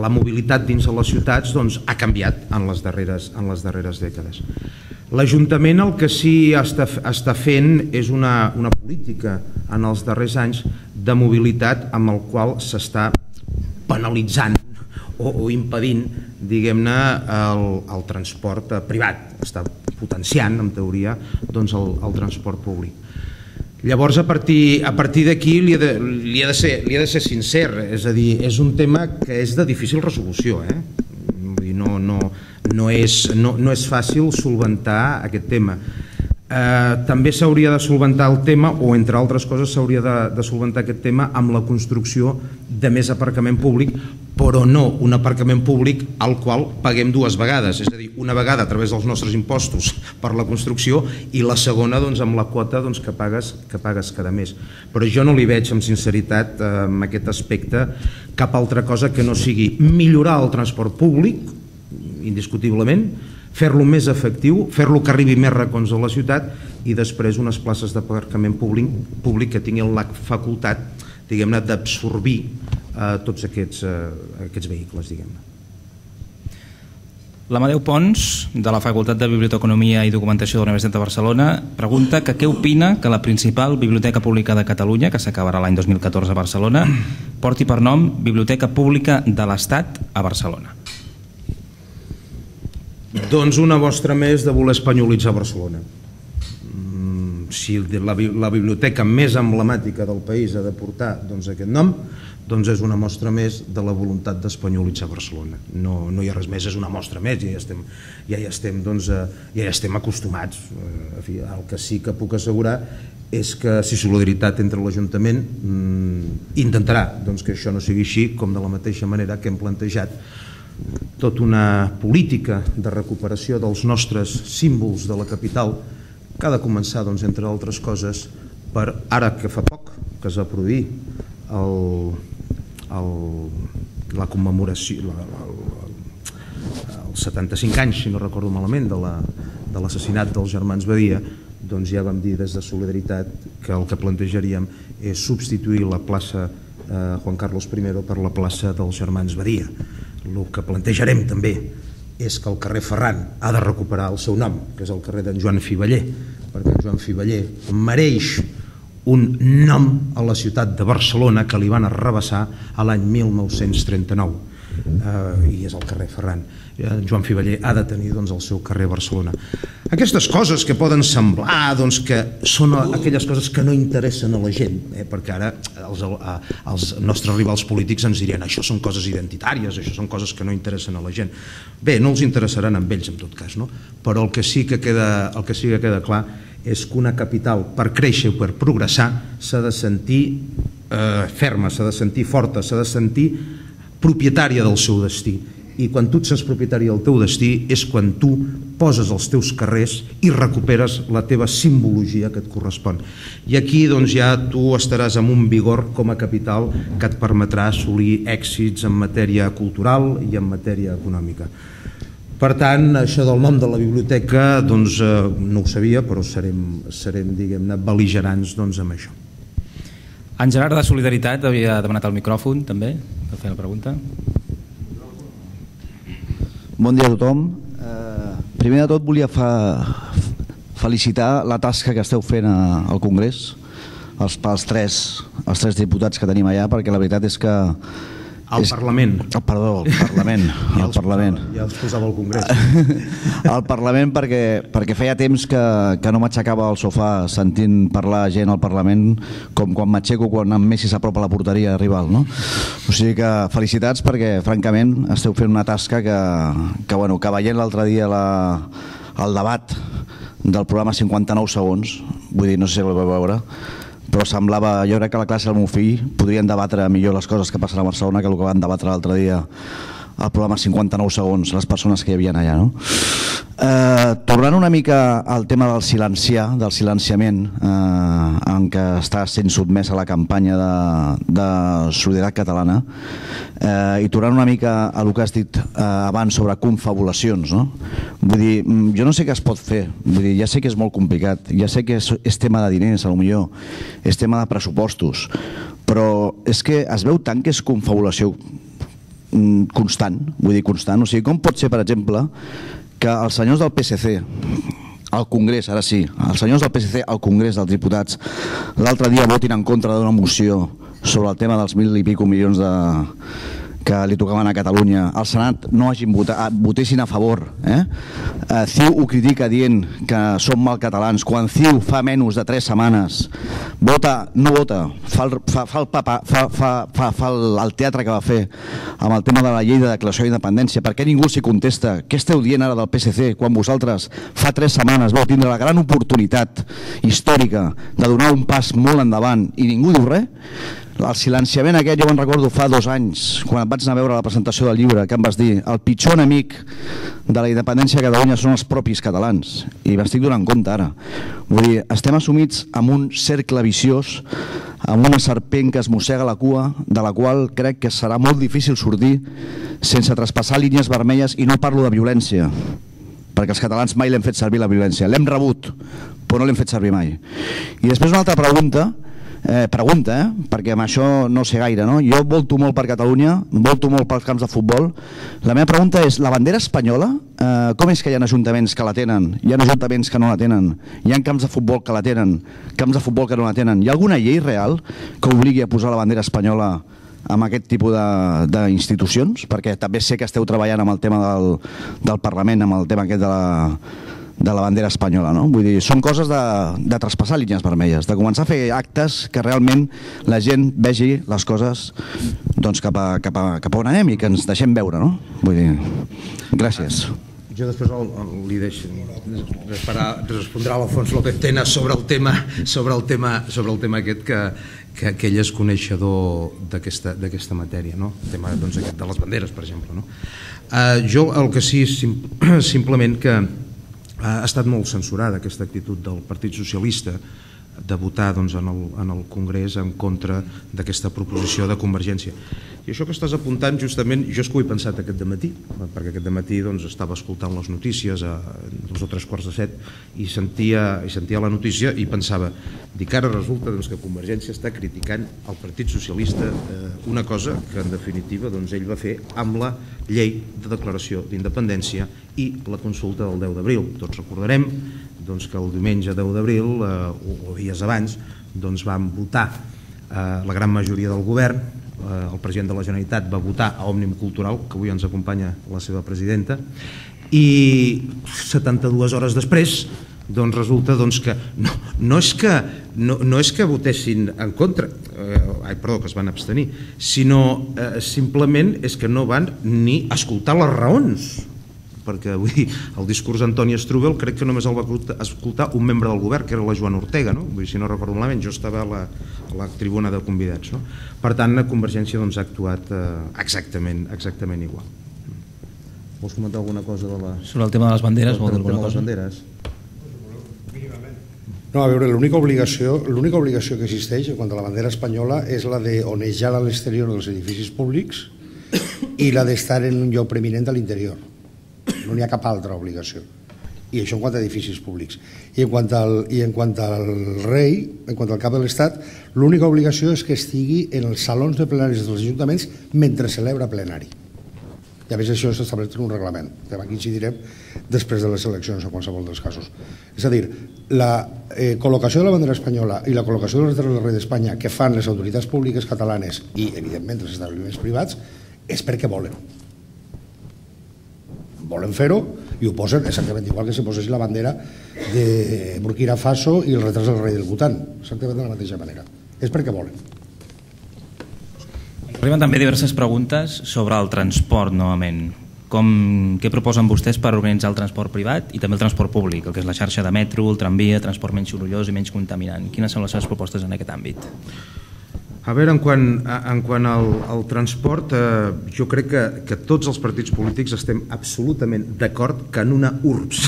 la mobilitat dins de les ciutats ha canviat en les darreres dècades. L'Ajuntament el que sí està fent és una política en els darrers anys de mobilitat amb el qual s'està penalitzant o impedint, diguem-ne, el transport privat. Està potenciant, en teoria, el transport públic. Llavors, a partir d'aquí li he de ser sincer, és a dir, és un tema que és de difícil resolució, no és fàcil solventar aquest tema. També s'hauria de solventar el tema, o entre altres coses s'hauria de solventar aquest tema amb la construcció de més aparcament públic, però no un aparcament públic al qual paguem dues vegades, és a dir, una vegada a través dels nostres impostos per la construcció i la segona amb la quota que pagues cada mes. Però jo no li veig amb sinceritat en aquest aspecte cap altra cosa que no sigui millorar el transport públic, indiscutiblement, fer-lo més efectiu, fer-lo que arribi més racons a la ciutat i després unes places d'aparcament públic que tinguin la facultat, diguem-ne, d'absorbir tots aquests vehicles, diguem-ne. L'Amadeu Pons, de la Facultat de Biblioteconomia i Documentació de la Universitat de Barcelona, pregunta que què opina que la principal biblioteca pública de Catalunya, que s'acabarà l'any 2014 a Barcelona, porti per nom Biblioteca Pública de l'Estat a Barcelona. Doncs una mostra més de voler espanyolitzar Barcelona. Si la biblioteca més emblemàtica del país ha de portar aquest nom, doncs és una mostra més de la voluntat d'espanyolitzar Barcelona. No hi ha res més, és una mostra més, ja hi estem acostumats. El que sí que puc assegurar és que si Solidaritat entre l'Ajuntament intentarà que això no sigui així, com de la mateixa manera que hem plantejat tota una política de recuperació dels nostres símbols de la capital que ha de començar, entre altres coses, per ara que fa poc que es va produir la commemoració, els 75 anys, si no recordo malament, de l'assassinat dels germans Badia, doncs ja vam dir des de Solidaritat que el que plantejaríem és substituir la plaça Juan Carlos I per la plaça dels germans Badia. El que plantejarem també és que el carrer Ferran ha de recuperar el seu nom, que és el carrer d'en Joan Fiveller, perquè en Joan Fiveller mereix un nom a la ciutat de Barcelona que li van arrabassar a l'any 1939, i és el carrer Ferran. Joan Fiveller ha de tenir el seu carrer a Barcelona. Aquestes coses que poden semblar que són aquelles coses que no interessen a la gent, perquè ara els nostres rivals polítics ens dirien això són coses identitàries, això són coses que no interessen a la gent. Bé, no els interessaran amb ells en tot cas, però el que sí que queda clar és que una capital per créixer o per progressar s'ha de sentir ferma, s'ha de sentir forta, s'ha de sentir propietària del seu destí. I quan tu et sents propietari del teu destí és quan tu poses els teus carrers i recuperes la teva simbologia que et correspon. I aquí ja tu estaràs amb un vigor com a capital que et permetrà assolir èxits en matèria cultural i en matèria econòmica. Per tant, això del nom de la biblioteca no ho sabia, però serem diguem-ne, bel·ligerants amb això. En Gerard de Solidaritat havia demanat el micròfon també per fer la pregunta. Bon dia a tothom. Primer de tot volia felicitar la tasca que esteu fent al Congrés, els tres diputats que tenim allà, perquè la veritat és que... Al Parlament. Perdó, al Parlament. Ja els posava al Congrés. Al Parlament perquè feia temps que no m'aixecava al sofà sentint parlar gent al Parlament com quan m'aixeco quan en Messi s'apropa a la porteria rival, no? O sigui que felicitats perquè francament esteu fent una tasca que veient l'altre dia el debat del programa 59 segons, vull dir, no sé si el vau veure, però semblava, jo crec que la classe del meu fill podrien debatre millor les coses que passen a Barcelona que el que van debatre l'altre dia al programa 59 segons, les persones que hi havia allà, no? Tornant una mica al tema del silenciament en què està sent sotmès a la campanya de Solidaritat Catalana, i tornant una mica a el que has dit abans sobre confabulacions, no? Vull dir, jo no sé què es pot fer, vull dir, ja sé que és molt complicat, ja sé que és tema de diners, potser és tema de pressupostos, però és que es veu tant que és confabulació constant, vull dir constant, o sigui, com pot ser, per exemple, que els senyors del PSC al Congrés, ara sí, els senyors del PSC al Congrés dels Diputats l'altre dia votin en contra d'una moció sobre el tema dels 1.000 i pico milions que li tocaven a Catalunya, al Senat no hagin votessin a favor. CiU ho critica dient que som mal catalans, quan CiU fa menys de 3 setmanes no vota, fa el teatre que va fer amb el tema de la llei de declaració d'independència. Per què ningú s'hi contesta? Què esteu dient ara del PSC quan vosaltres fa 3 setmanes vau tindre la gran oportunitat històrica de donar un pas molt endavant i ningú diu res? El silenciament aquest jo me'n recordo fa 2 anys, quan et vaig anar a veure la presentació del llibre, que em vas dir el pitjor enemic de la independència de Catalunya són els propis catalans, i m'estic donant compte ara. Vull dir, estem assumits en un cercle viciós, amb una serpent que es mossega la cua, de la qual crec que serà molt difícil sortir sense traspassar línies vermelles, i no parlo de violència, perquè els catalans mai l'hem fet servir la violència, l'hem rebut, però no l'hem fet servir mai. I després una altra pregunta, perquè amb això no sé gaire, no? Jo volto molt per Catalunya, volto molt pels camps de futbol. La meva pregunta és, la bandera espanyola, com és que hi ha ajuntaments que la tenen, hi ha ajuntaments que no la tenen, hi ha camps de futbol que la tenen, camps de futbol que no la tenen? Hi ha alguna llei real que obligui a posar la bandera espanyola amb aquest tipus d'institucions? Perquè també sé que esteu treballant amb el tema del Parlament, amb el tema aquest de la bandera espanyola, no? Vull dir, són coses de traspassar línies vermelles, de començar a fer actes que realment la gent vegi les coses doncs cap a on anem i que ens deixem veure, no? Vull dir, gràcies. Jo després li deixo respondrà l'Alfons López Tena sobre el tema aquest que ell és coneixedor d'aquesta matèria, no? El tema de les banderes, per exemple, no? Jo el que sí, simplement que ha estat molt censurada aquesta actitud del Partit Socialista de votar en el Congrés en contra d'aquesta proposició de Convergència. I això que estàs apuntant, justament, jo és que ho he pensat aquest dematí, perquè aquest dematí estava escoltant les notícies a 2 o 3 quarts de 7 i sentia la notícia i pensava, dic, ara resulta que Convergència està criticant el Partit Socialista una cosa que en definitiva ell va fer amb la llei de declaració d'independència i la consulta del 10 d'abril. Tots recordarem que el diumenge 10 d'abril, o dies abans, van votar la gran majoria del govern, el president de la Generalitat va votar a Òmnium Cultural, que avui ens acompanya la seva presidenta, i 72 hores després resulta que no és que votessin en contra, que es van abstenir, sinó simplement és que no van ni escoltar les raons, perquè vull dir, el discurs d'Antoni Strubell crec que només el va escoltar un membre del govern, que era la Joana Ortega, no? Vull dir, si no recordo malament, jo estava a la tribuna de convidats, no? Per tant, Convergència ha actuat exactament igual. Vols comentar alguna cosa sobre el tema de les banderes? Sobre el tema de les banderes? No, a veure, l'única obligació que existeix en quant a la bandera espanyola és la d'onejar a l'exterior dels edificis públics i la d'estar en un lloc preeminent a l'interior. No n'hi ha cap altra obligació. I això en quant a edificis públics. I en quant al rei, en quant al cap de l'Estat, l'única obligació és que estigui en els salons de plenaris dels ajuntaments mentre celebra plenari. I a més això s'estableix en un reglament, que aquí incidirem després de les eleccions en qualsevol dels casos. És a dir, la col·locació de la bandera espanyola i la col·locació de les lettres del rei d'Espanya que fan les autoritats públiques catalanes i, evidentment, els establiments privats és perquè volen. Volen fer-ho i ho posen exactament igual que si posessin la bandera de Burkina Faso i el retrat del rei del Bhutan, exactament de la mateixa manera. És perquè volen. Arriben també diverses preguntes sobre el transport, novament. Què proposen vostès per organitzar el transport privat i també el transport públic, el que és la xarxa de metro, el tramvia, transport menys sorollós i menys contaminant? Quines són les seves propostes en aquest àmbit? A veure, en quant al transport, jo crec que tots els partits polítics estem absolutament d'acord que en una urbs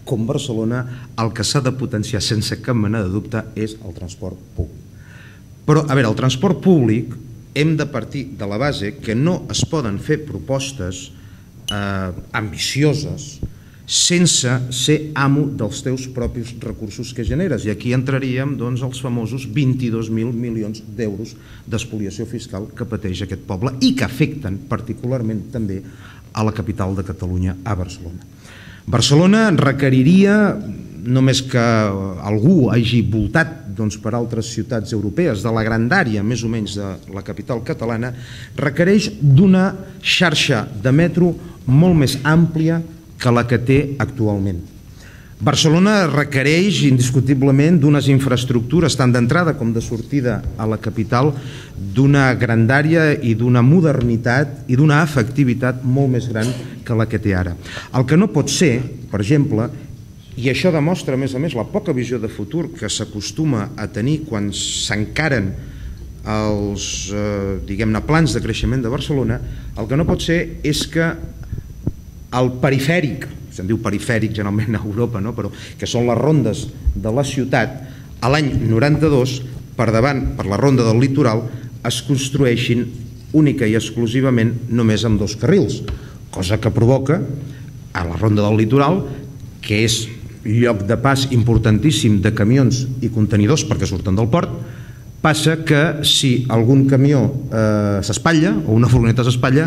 com Barcelona el que s'ha de potenciar sense cap mena de dubte és el transport públic. Però, a veure, el transport públic hem de partir de la base que no es poden fer propostes ambicioses sense ser amo dels teus propis recursos que generes. I aquí entraríem els famosos 22.000 milions d'euros d'espoliació fiscal que pateix aquest poble i que afecten particularment també a la capital de Catalunya, a Barcelona. Barcelona requeriria, només que algú hagi voltat per altres ciutats europees de la grandària més o menys de la capital catalana, requereix d'una xarxa de metro molt més àmplia que la que té actualment. Barcelona requereix indiscutiblement d'unes infraestructures tant d'entrada com de sortida a la capital d'una grandària i d'una modernitat i d'una efectivitat molt més gran que la que té ara. El que no pot ser, per exemple, i això demostra a més la poca visió de futur que s'acostuma a tenir quan s'encaren els plans de creixement de Barcelona, el que no pot ser és que el perifèric, se'n diu perifèric generalment a Europa, però que són les rondes de la ciutat, a l'any 92, per davant, per la ronda del litoral, es construeixin única i exclusivament només amb 2 carrils, cosa que provoca a la ronda del litoral, que és lloc de pas importantíssim de camions i contenidors perquè surten del port, passa que si algun camió s'espatlla o una furgoneta s'espatlla,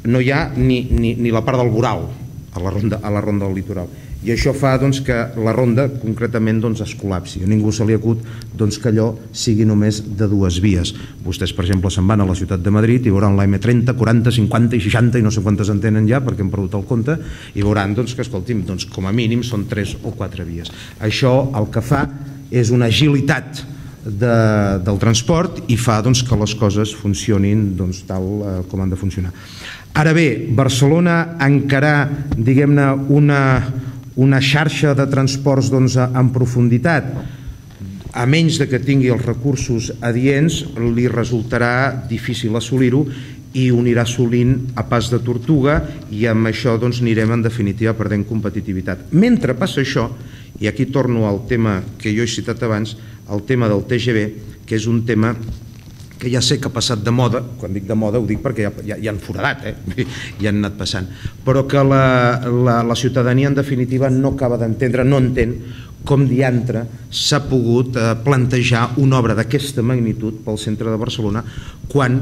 no hi ha ni la part del voral a la ronda del litoral. I això fa que la ronda concretament es col·lapsi. A ningú se li acut que allò sigui només de 2 vies. Vostès, per exemple, se'n van a la ciutat de Madrid i veuran la M30, 40, 50 i 60 i no sé quantes en tenen ja perquè hem perdut el compte i veuran que, escolti'm, com a mínim són 3 o 4 vies. Això el que fa és una agilitat del transport i fa que les coses funcionin tal com han de funcionar. Ara bé, Barcelona encarar, diguem-ne, una xarxa de transports en profunditat, a menys que tingui els recursos adients, li resultarà difícil assolir-ho i ho anirà assolint a pas de tortuga i amb això anirem en definitiva perdent competitivitat. Mentre passa això, i aquí torno al tema que jo he citat abans, el tema del TGV, que és un tema que ja sé que ha passat de moda, quan dic de moda ho dic perquè ja han foradat, ja han anat passant, però que la ciutadania en definitiva no acaba d'entendre, no entén com diantre s'ha pogut plantejar una obra d'aquesta magnitud pel centre de Barcelona quan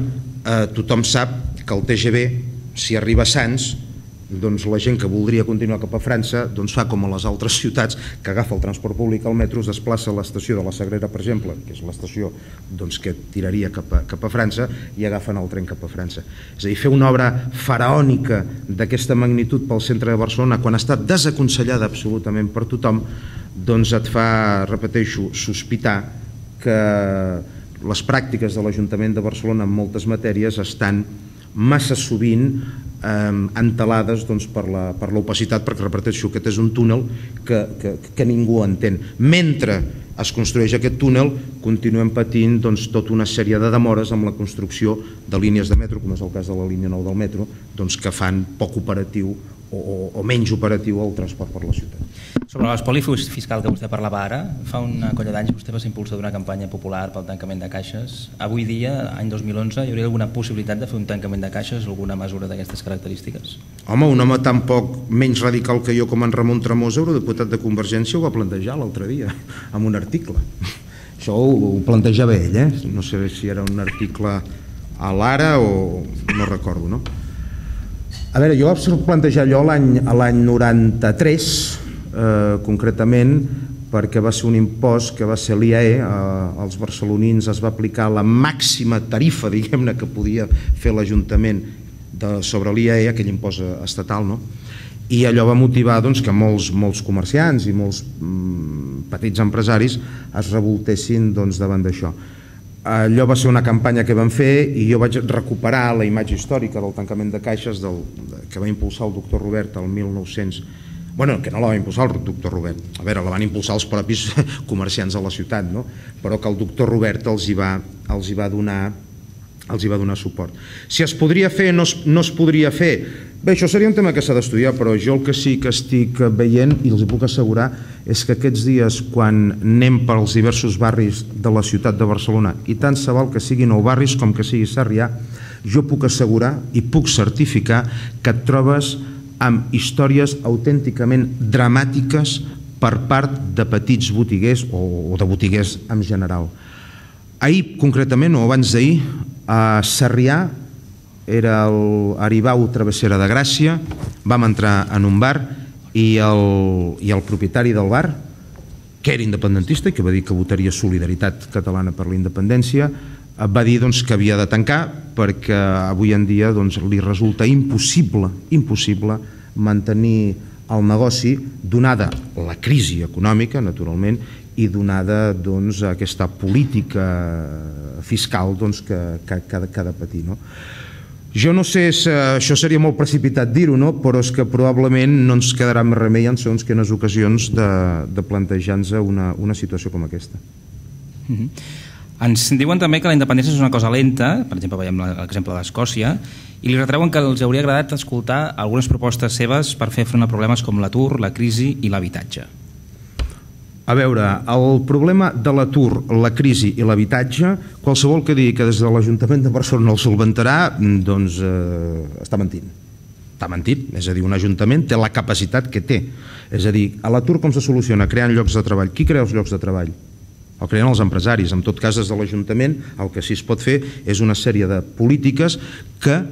tothom sap que el TGV, si arriba a Sants, la gent que voldria continuar cap a França fa com a les altres ciutats que agafa el transport públic al metro, es desplaça a l'estació de la Sagrera, per exemple, que és l'estació que tiraria cap a França, i agafen el tren cap a França. És a dir, fer una obra faraònica d'aquesta magnitud pel centre de Barcelona quan està desaconsellada absolutament per tothom, et fa, repeteixo, sospitar que les pràctiques de l'Ajuntament de Barcelona en moltes matèries estan massa sovint entelades per l'opacitat, perquè, repeteixo, aquest és un túnel que ningú entén. Mentre es construeix aquest túnel, continuem patint tota una sèrie de demores amb la construcció de línies de metro, com és el cas de la línia 9 del metro, que fan poc operatiu o menys operatiu el transport per la ciutat. Sobre l'espoli fiscal que vostè parlava ara, fa una colla d'anys vostè va ser impulsor d'una campanya popular pel tancament de caixes. Avui dia, any 2011, hi hauria alguna possibilitat de fer un tancament de caixes, alguna mesura d'aquestes característiques? Home, un home tan poc menys radical que jo com en Ramon Tremosa, eurodiputat de Convergència, ho va plantejar l'altre dia, amb un article. Això ho plantejava ell, no sé si era un article a l'Ara o no recordo, no? A veure, jo vaig plantejar allò l'any 93, concretament, perquè va ser un impost que va ser l'IAE, als barcelonins es va aplicar la màxima tarifa, diguem-ne, que podia fer l'Ajuntament sobre l'IAE, aquell impost estatal, no? I allò va motivar que molts comerciants i molts petits empresaris es revoltessin davant d'això. Allò va ser una campanya que vam fer i jo vaig recuperar la imatge històrica del tancament de caixes que va impulsar el doctor Robert el 1900. Bueno, que no la va impulsar el doctor Robert, a veure, la van impulsar els propis comerciants de la ciutat, no? Però que el doctor Robert els hi va donar els hi va donar suport. Si es podria fer o no es podria fer, bé, això seria un tema que s'ha d'estudiar, però jo el que sí que estic veient, i els hi puc assegurar, és que aquests dies, quan anem pels diversos barris de la ciutat de Barcelona, i tant se val que siguin nou barris com que sigui Sarrià, jo puc assegurar i puc certificar que et trobes amb històries autènticament dramàtiques per part de petits botiguers o de botiguers en general. Ahir, concretament, o abans d'ahir, a Sarrià, era l'Aribau Travessera de Gràcia, vam entrar en un bar i el propietari del bar, que era independentista i que va dir que votaria Solidaritat Catalana per la Independència, va dir que havia de tancar perquè avui en dia li resulta impossible mantenir el negoci, donada la crisi econòmica, naturalment, i donada aquesta política fiscal que ha de patir. Jo no sé si això seria molt precipitat dir-ho, però és que probablement no ens quedarà més remei en segons quines ocasions de plantejar-nos una situació com aquesta. Ens diuen també que la independència és una cosa lenta, per exemple veiem l'exemple d'Escòcia, i li retreuen que els hauria agradat escoltar algunes propostes seves per fer front a problemes com l'atur, la crisi i l'habitatge. A veure, el problema de l'atur, la crisi i l'habitatge, qualsevol que digui que des de l'Ajuntament de Barcelona el solventarà, doncs està mentint. Està mentit, és a dir, un ajuntament té la capacitat que té. És a dir, a l'atur com se soluciona? Creant llocs de treball. Qui crea els llocs de treball? El creen els empresaris. En tot cas, des de l'Ajuntament el que sí es pot fer és una sèrie de polítiques que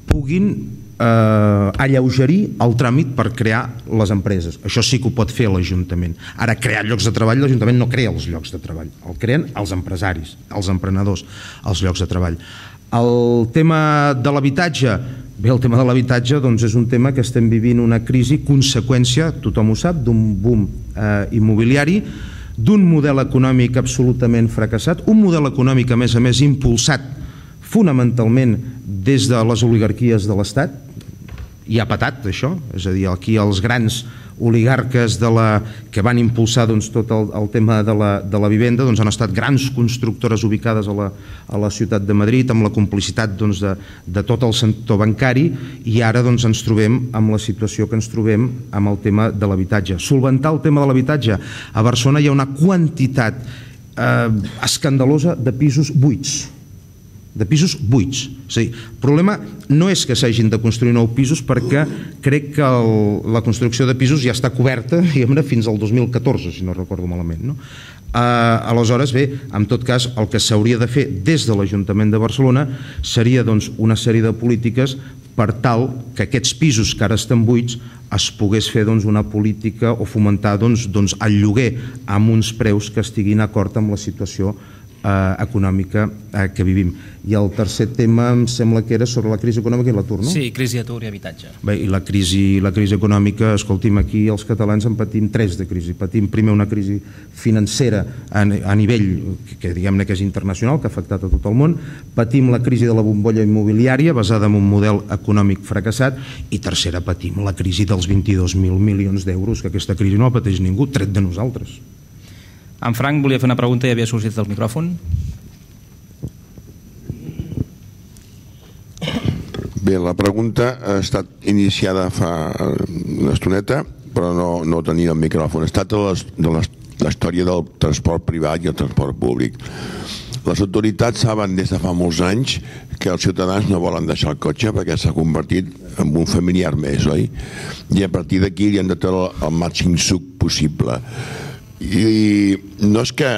puguin alleugerir el tràmit per crear les empreses. Això sí que ho pot fer l'Ajuntament. Ara, crear llocs de treball, l'Ajuntament no crea els llocs de treball, el creen els empresaris, els emprenedors, els llocs de treball. El tema de l'habitatge, bé, el tema de l'habitatge és un tema que estem vivint una crisi, conseqüència, tothom ho sap, d'un boom immobiliari, d'un model econòmic absolutament fracassat, un model econòmic, a més, impulsat fonamentalment des de les oligarquies de l'Estat, i ha patat això, és a dir, aquí els grans oligarques que van impulsar tot el tema de la vivenda han estat grans constructores ubicades a la ciutat de Madrid amb la complicitat de tot el sector bancari, i ara ens trobem amb la situació que ens trobem amb el tema de l'habitatge. Solventar el tema de l'habitatge. A Barcelona hi ha una quantitat escandalosa de pisos buits. De pisos buits. És a dir, el problema no és que s'hagin de construir nous pisos, perquè crec que la construcció de pisos ja està coberta fins al 2014, si no recordo malament. Aleshores, bé, en tot cas, el que s'hauria de fer des de l'Ajuntament de Barcelona seria una sèrie de polítiques per tal que aquests pisos que ara estan buits es pogués fer una política o fomentar el lloguer amb uns preus que estiguin d'acord amb la situació econòmica que vivim. I el tercer tema em sembla que era sobre la crisi econòmica i l'atur, no? Sí, crisi, atur i habitatge. Bé, i la crisi econòmica, escolti'm, aquí els catalans en patim tres de crisi. Patim primer una crisi financera a nivell que diguem-ne que és internacional, que ha afectat a tot el món. Patim la crisi de la bombolla immobiliària basada en un model econòmic fracassat, i tercera, patim la crisi dels 22.000 milions d'euros, que aquesta crisi no la pateix ningú, tret de nosaltres. En Frank volia fer una pregunta i havia sorgit del micròfon. Bé, la pregunta ha estat iniciada fa una estoneta, però no tenia el micròfon. Es tracta de la història del transport privat i el transport públic. Les autoritats saben des de fa molts anys que els ciutadans no volen deixar el cotxe perquè s'ha convertit en un familiar més, oi? I a partir d'aquí li han de treure el màxim suc possible. I no és que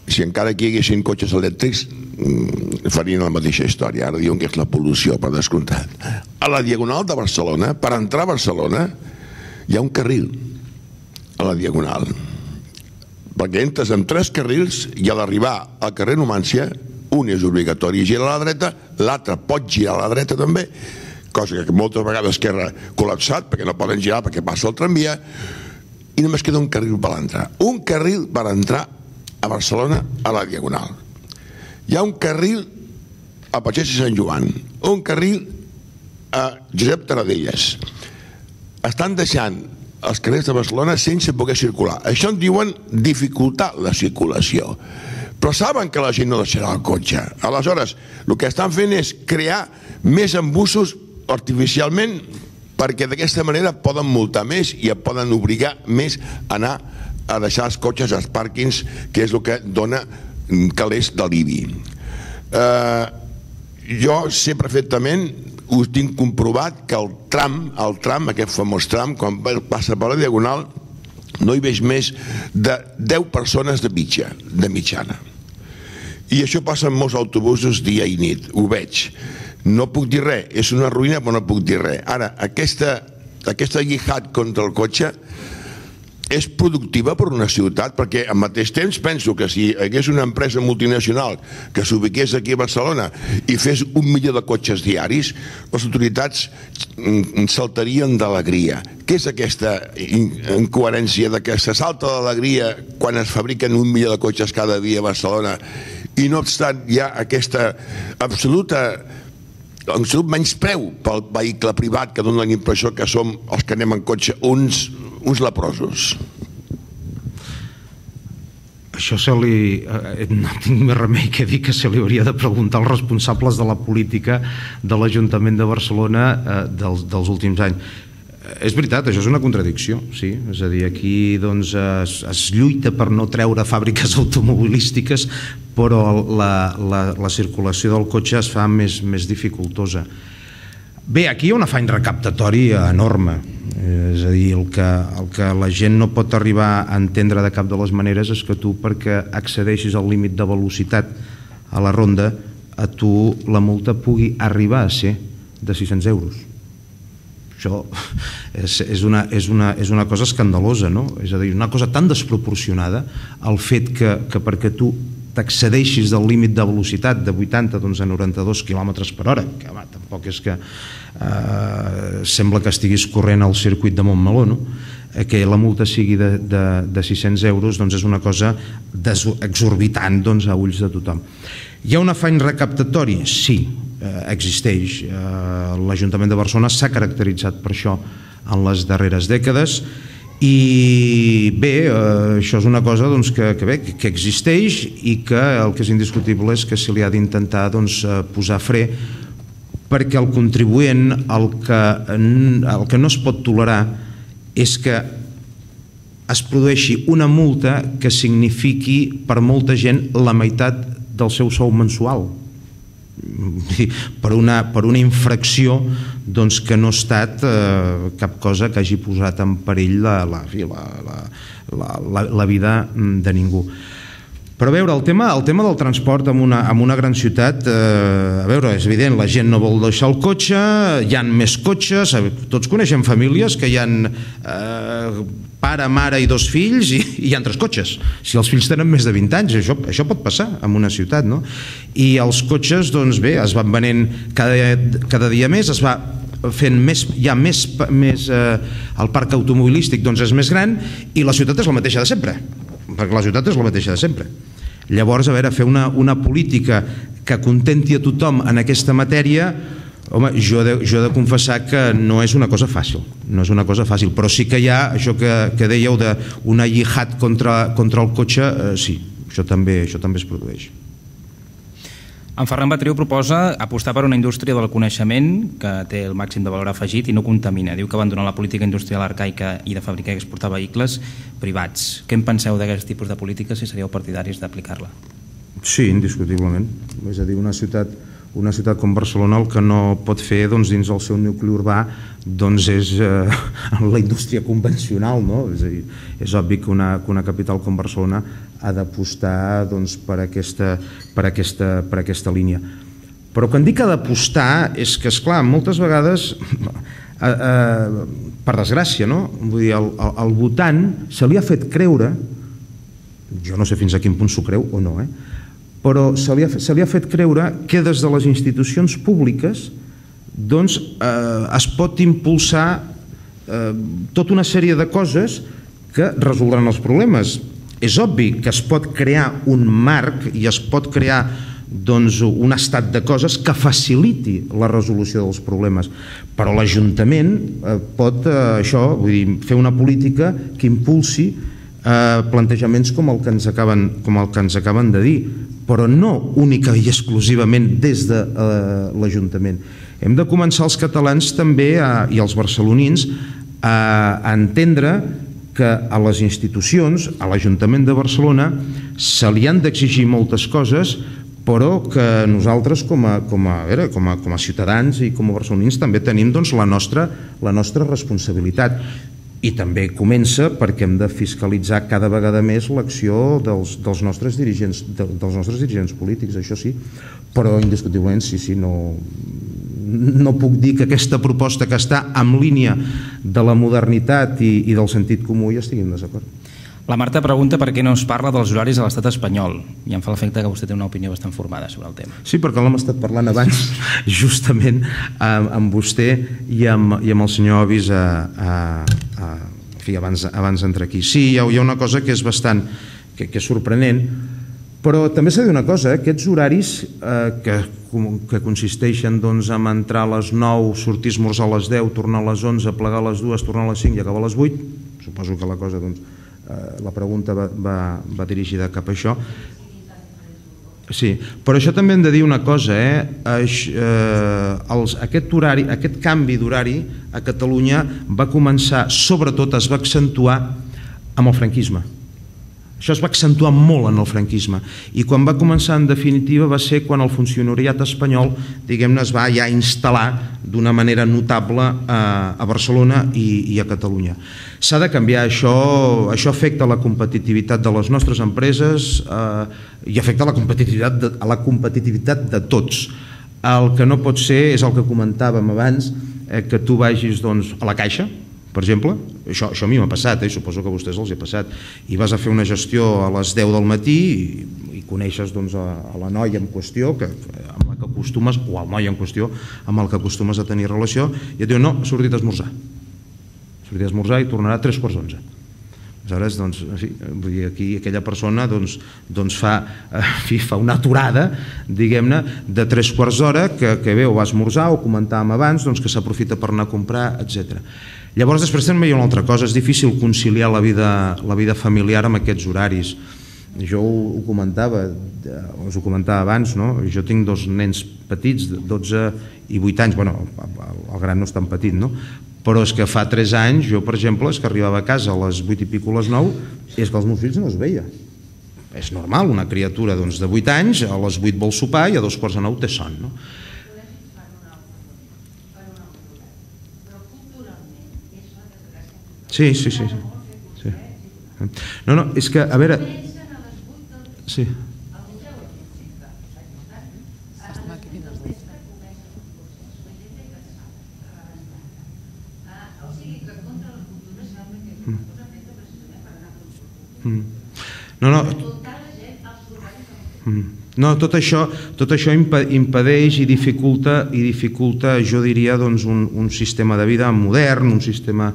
si encara aquí hi haguessin cotxes elèctrics farien la mateixa història. Ara diuen que és la pol·lució, per descomptat. A la Diagonal de Barcelona, per entrar a Barcelona, hi ha un carril a la Diagonal, perquè entres amb 3 carrils i a l'arribar al carrer Numància un és obligatori girar a la dreta, l'altre pot girar a la dreta també, cosa que moltes vegades queda col·lapsat perquè no poden girar perquè passa el tramvia, i només queda un carril per entrar. Un carril per entrar a Barcelona a la Diagonal. Hi ha un carril a Pagès i Sant Joan, un carril a Josep Tarradellas. Estan deixant els carrers de Barcelona sense poder circular. Això en diuen dificultar la circulació. però saben que la gent no deixarà el cotxe. Aleshores, el que estan fent és crear més embussos artificialment, perquè d'aquesta manera poden multar més i poden obligar més a anar a deixar els cotxes als pàrquings, que és el que dona calés d'alivi. Jo sé perfectament, ho tinc comprovat, que el tram, aquest famós tram, quan passa per la Diagonal, no hi veig més de 10 persones de mitjana. I això passa en molts autobusos dia i nit, ho veig. No puc dir res, és una ruïna, però no puc dir res. Ara, aquesta jihad contra el cotxe és productiva per una ciutat, perquè al mateix temps penso que si hi hagués una empresa multinacional que s'ubiqués aquí a Barcelona i fes 1 milió de cotxes diaris, les autoritats saltarien d'alegria. Què és aquesta incoherència de que se salta d'alegria quan es fabriquen 1 milió de cotxes cada dia a Barcelona i no obstant hi ha aquesta absolut menyspreu pel vehicle privat que dona la impressió que som els que anem en cotxe uns leprosos? Això no tinc més remei que dir que se li hauria de preguntar als responsables de la política de l'Ajuntament de Barcelona dels últims anys. És veritat, això és una contradicció, sí. És a dir, aquí es lluita per no treure fàbriques automobilístiques, però la circulació del cotxe es fa més dificultosa. Bé, aquí hi ha un afany recaptatori enorme. És a dir, el que la gent no pot arribar a entendre de cap de les maneres és que tu, perquè accedeixis al límit de velocitat a la ronda, a tu la multa pugui arribar a ser de 600 euros. Això és una cosa escandalosa, no? És a dir, una cosa tan desproporcionada, el fet que perquè tu t'accedeixis del límit de velocitat de 80 a 92 km per hora, que tampoc és que sembla que estiguis corrent al circuit de Montmeló, no? Que la multa sigui de 600 euros és una cosa exorbitant a ulls de tothom. Hi ha un afany recaptatori? Sí, existeix. L'Ajuntament de Barcelona s'ha caracteritzat per això en les darreres dècades. I bé, això és una cosa que existeix i que el que és indiscutible és que se li ha d'intentar posar fre, perquè el contribuent el que no es pot tolerar és que es produeixi una multa que signifiqui per molta gent la meitat del seu sou mensual per una infracció que no ha estat cap cosa que hagi posat en perill la vida de ningú. Però a veure, el tema del transport en una gran ciutat, a veure, és evident, la gent no vol deixar el cotxe, hi ha més cotxes, tots coneixem famílies que hi ha pare, mare i 2 fills i hi ha 3 cotxes. Si els fills tenen més de 20 anys, això pot passar en una ciutat, no? I els cotxes, doncs bé, es van venent cada dia més, es va fent més, hi ha més, el parc automobilístic és més gran i la ciutat és la mateixa de sempre, perquè la ciutat és la mateixa de sempre. Llavors, a veure, fer una política que contenti a tothom en aquesta matèria, home, jo he de confessar que no és una cosa fàcil, però sí que hi ha això que dèieu d'una jihad contra el cotxe, sí, això també es produeix. En Ferran Batriu proposa apostar per una indústria del coneixement que té el màxim de valor afegit i no contamina. Diu que abandonar la política industrial arcaica i de fabricar i exportar vehicles privats. Què en penseu d'aquest tipus de política, si seríeu partidaris d'aplicar-la? Sí, indiscutiblement. És a dir, una ciutat com Barcelona el que no pot fer dins el seu nucli urbà és la indústria convencional, no? És a dir, és obvi que una capital com Barcelona ha d'apostar per aquesta línia. Però quan dic que ha d'apostar és que, esclar, moltes vegades, per desgràcia, no? Vull dir, al votant se li ha fet creure, jo no sé fins a quin punt s'ho creu o no, però se li ha fet creure que des de les institucions públiques es pot impulsar tota una sèrie de coses que resoldran els problemes. És obvi que es pot crear un marc i es pot crear un estat de coses que faciliti la resolució dels problemes, però l'Ajuntament pot fer una política que impulsi plantejaments com el que ens acaben de dir, però no única i exclusivament des de l'Ajuntament. Hem de començar els catalans també i els barcelonins a entendre que a les institucions, a l'Ajuntament de Barcelona, se li han d'exigir moltes coses, però que nosaltres com a ciutadans i com a barcelonins també tenim la nostra responsabilitat. I també comença perquè hem de fiscalitzar cada vegada més l'acció dels nostres dirigents polítics, això sí, però indiscutiblement sí, no puc dir que aquesta proposta que està en línia de la modernitat i del sentit comú hi estigui en desacord. La Marta pregunta per què no es parla dels horaris a l'estat espanyol i em fa l'efecte que vostè té una opinió bastant formada sobre el tema. Sí, perquè l'hem estat parlant abans justament amb vostè i amb el senyor Ovis abans d'entrar aquí. Sí, hi ha una cosa que és bastant que és sorprenent, però també s'ha de dir una cosa, aquests horaris que consisteixen en entrar a les 9, sortir a esmorzar a les 10, tornar a les 11, plegar a les 2, tornar a les 5 i acabar a les 8, suposo que la cosa, la pregunta va dirigida cap a això. Sí, però això també hem de dir una cosa, aquest canvi d'horari a Catalunya va començar, sobretot es va accentuar amb el franquisme. Això es va accentuar molt en el franquisme i quan va començar en definitiva va ser quan el funcionariat espanyol, diguem-ne, es va ja instal·lar d'una manera notable a Barcelona i a Catalunya. S'ha de canviar això afecta la competitivitat de les nostres empreses i afecta la competitivitat de tots. El que no pot ser és el que comentàvem abans, que tu vagis a la Caixa, per exemple, això a mi m'ha passat, suposo que a vostès els ha passat, i vas a fer una gestió a les 10 del matí i coneixes a la noia en qüestió amb la que acostumes, o al noi en qüestió amb el que acostumes a tenir relació, i et diu no, ha sortit a esmorzar. Ha sortit a esmorzar i tornarà a 3:45. Aleshores, aquí aquella persona fa una aturada, diguem-ne, de 3/4 que ve o va a esmorzar o comentàvem abans que s'aprofita per anar a comprar, etc. Llavors després també hi ha una altra cosa, és difícil conciliar la vida familiar amb aquests horaris. Jo us ho comentava abans, jo tinc 2 nens petits, de 12 i 8 anys, el gran no és tan petit, però és que fa 3 anys, jo per exemple, és que arribava a casa a les 8 i pico, a les 9, és que els meus fills no es veia. És normal, una criatura de 8 anys, a les 8 vol sopar i a 8:45 té son, no? Sí. No, és que, a veure... Sí. No, tot això impedeix i dificulta, jo diria, un sistema de vida modern, un sistema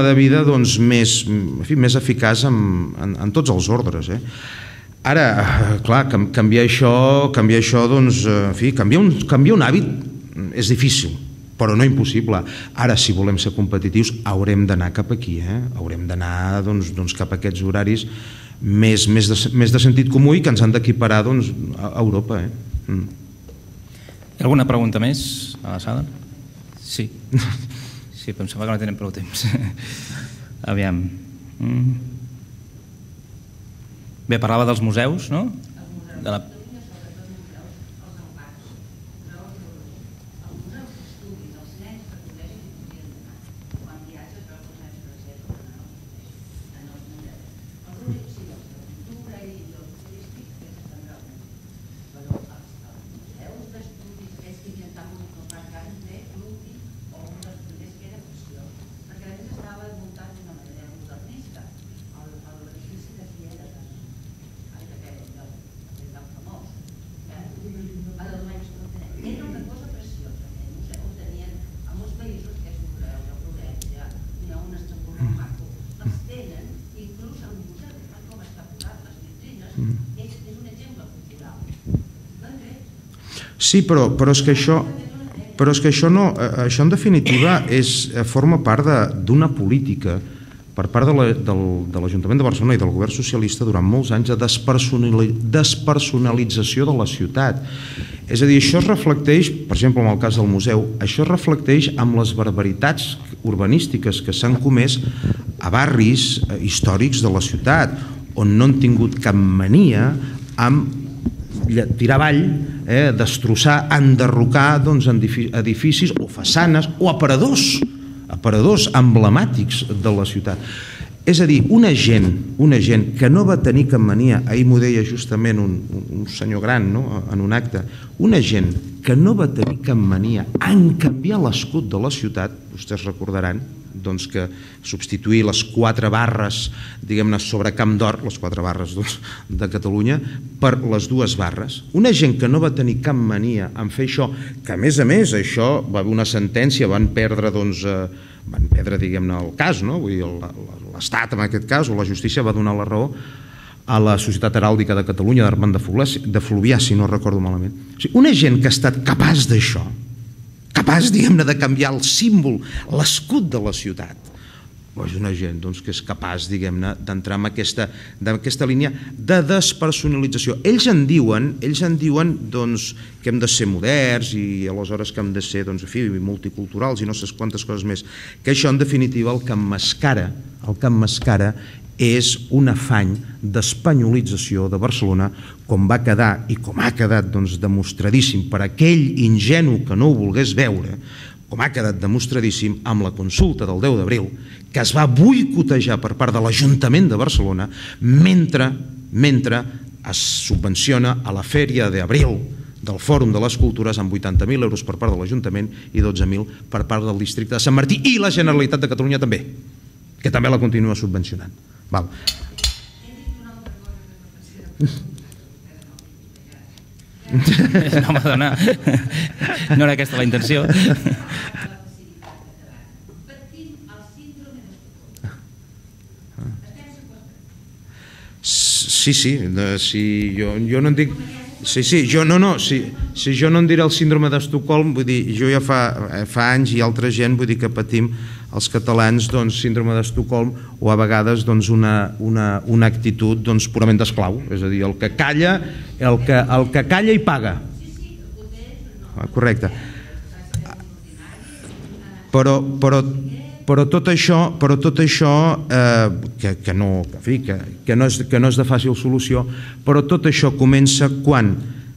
de vida més eficaç en tots els ordres. Ara, clar, canviar això, canviar un hàbit és difícil, però no impossible. Ara, si volem ser competitius, haurem d'anar cap aquí, haurem d'anar cap a aquests horaris més de sentit comú i que ens han d'equiparar a Europa. Hi ha alguna pregunta més a la sala? Sí. Sí, però em sembla que no tenen prou temps. Aviam. Bé, parlava dels museus, no? De la... Sí, però és que això en definitiva forma part d'una política per part de l'Ajuntament de Barcelona i del govern socialista durant molts anys de despersonalització de la ciutat. És a dir, això es reflecteix, per exemple, en el cas del museu, això es reflecteix amb les barbaritats urbanístiques que s'han comès a barris històrics de la ciutat, on no han tingut cap mania amb tirar avall, destrossar, enderrocar edificis o façanes o aparadors emblemàtics de la ciutat. És a dir, una gent que no va tenir cap mania, ahir m'ho deia justament un senyor gran en un acte, una gent que no va tenir cap mania en canviar l'escut de la ciutat, vostès recordaran que substituir les 4 barres, diguem-ne, sobre Camp d'Or, les 4 barres de Catalunya, per les 2 barres. Una gent que no va tenir cap mania en fer això, que a més, això va haver una sentència, van perdre, diguem-ne, el cas, l'Estat en aquest cas, o la justícia va donar la raó a la Societat Heràldica de Catalunya d'Armand de Fluvià, si no recordo malament. Una gent que ha estat capaç d'això, capaç, diguem-ne, de canviar el símbol, l'escut de la ciutat, és una gent que és capaç, diguem-ne, d'entrar en aquesta línia de despersonalització. Ells en diuen que hem de ser moderns i aleshores que hem de ser multiculturals i no sé quantes coses més, que això en definitiva el que emmascara és un afany d'espanyolització de Barcelona, com va quedar i com ha quedat demostradíssim per aquell ingenu que no ho volgués veure, com ha quedat demostradíssim amb la consulta del 10 d'abril, que es va boicotejar per part de l'Ajuntament de Barcelona mentre es subvenciona a la Fèria d'Abril del Fòrum de les Cultures amb 80.000 euros per part de l'Ajuntament i 12.000 per part del districte de Sant Martí i la Generalitat de Catalunya també, que també la continua subvencionant. Val. No, madona, no era aquesta la intenció. Sí, jo no en dic... jo no en diré el síndrome d'Estocolm, vull dir, jo ja fa anys i altra gent, vull dir que patim els catalans síndrome d'Estocolm o a vegades una actitud purament d'esclau, és a dir, el que calla i paga. Correcte. Però tot això que no és de fàcil solució, però tot això comença quan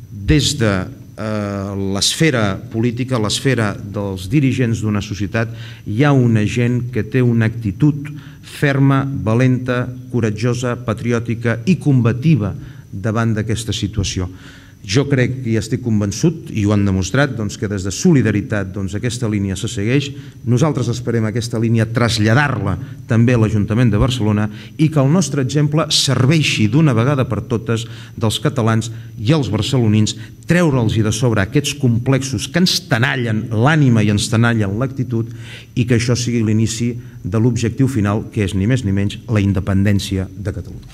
des de l'esfera política, l'esfera dels dirigents d'una societat, hi ha una gent que té una actitud ferma, valenta, coratjosa, patriòtica i combativa davant d'aquesta situació. Jo crec i estic convençut, i ho han demostrat, que des de Solidaritat aquesta línia se segueix. Nosaltres esperem aquesta línia traslladar-la també a l'Ajuntament de Barcelona i que el nostre exemple serveixi d'una vegada per totes dels catalans i els barcelonins, treure'ls de sobre aquests complexos que ens tenallen l'ànima i ens tenallen l'actitud i que això sigui l'inici de l'objectiu final, que és ni més ni menys la independència de Catalunya.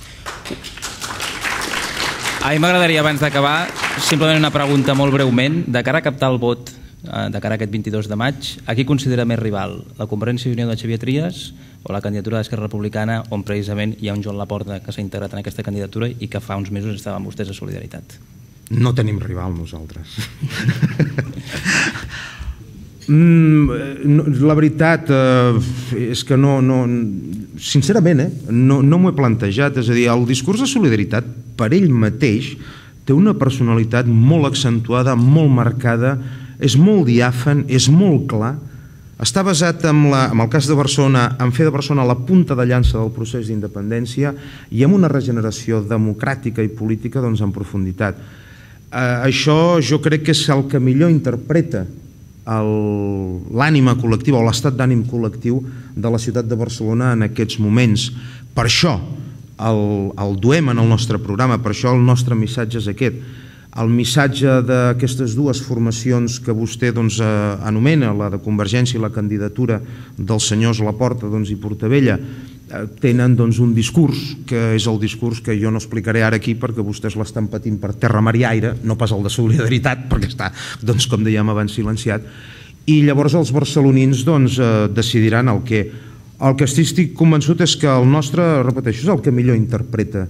A mi m'agradaria, abans d'acabar, simplement una pregunta molt breument. De cara a captar el vot, de cara a aquest 22 de maig, a qui considera més rival? La Convergència i Unió de Xavier Trias o la candidatura d'Esquerra Republicana, on precisament hi ha un Joan Laporta que s'ha integrat en aquesta candidatura i que fa uns mesos estaven vostès a Solidaritat? No tenim rival nosaltres. La veritat és que sincerament no m'ho he plantejat. És a dir, el discurs de Solidaritat per ell mateix té una personalitat molt accentuada, molt marcada, és molt diàfan, és molt clar, està basat en el cas de Barcelona, en fer de Barcelona la punta de llança del procés d'independència i amb una regeneració democràtica i política en profunditat. Això jo crec que és el que millor interpreta l'ànima col·lectiva o l'estat d'ànim col·lectiu de la ciutat de Barcelona en aquests moments. Per això el duem en el nostre programa, per això el nostre missatge és aquest. El missatge d'aquestes dues formacions que vostè anomena, la de Convergència i la candidatura dels senyors Laporta i Portabella, tenen un discurs que és el discurs que jo no explicaré ara aquí perquè vostès l'estan patint per terra, mar i aire, no pas el de Solidaritat perquè està, com dèiem abans, silenciat, i llavors els barcelonins decidiran el que El que estic convençut és que el nostre, repeteixo, és el que millor interpreta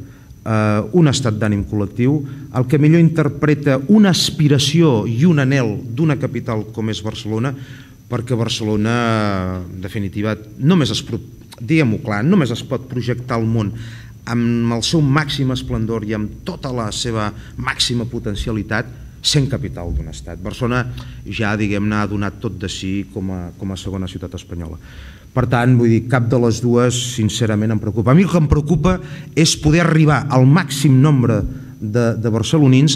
un estat d'ànim col·lectiu, el que millor interpreta una aspiració i un anhel d'una capital com és Barcelona, perquè Barcelona, en definitiva, diguem-ho clar, només es pot projectar al món amb el seu màxim esplendor i amb tota la seva màxima potencialitat sent capital d'un estat. Barcelona ja, diguem-ne, ha donat tot de si com a segona ciutat espanyola. Per tant, vull dir, cap de les dues, sincerament, em preocupa. A mi el que em preocupa és poder arribar al màxim nombre de barcelonins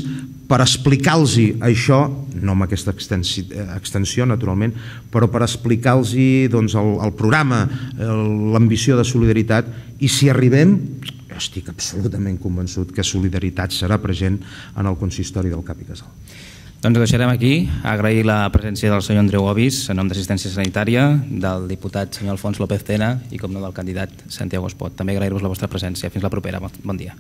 per explicar-los això, no amb aquesta extensió, naturalment, però per explicar-los el programa, l'ambició de solidaritat, i si arribem, estic absolutament convençut que solidaritat serà present en el consistori del Cap i Casal. Doncs ho deixarem aquí. Agrair la presència del senyor Andreu Ovis, en nom d'Assistència Sanitària, del diputat senyor Alfons López Tena i, com no, del candidat Santiago Espot. També agrair-vos la vostra presència. Fins la propera. Bon dia.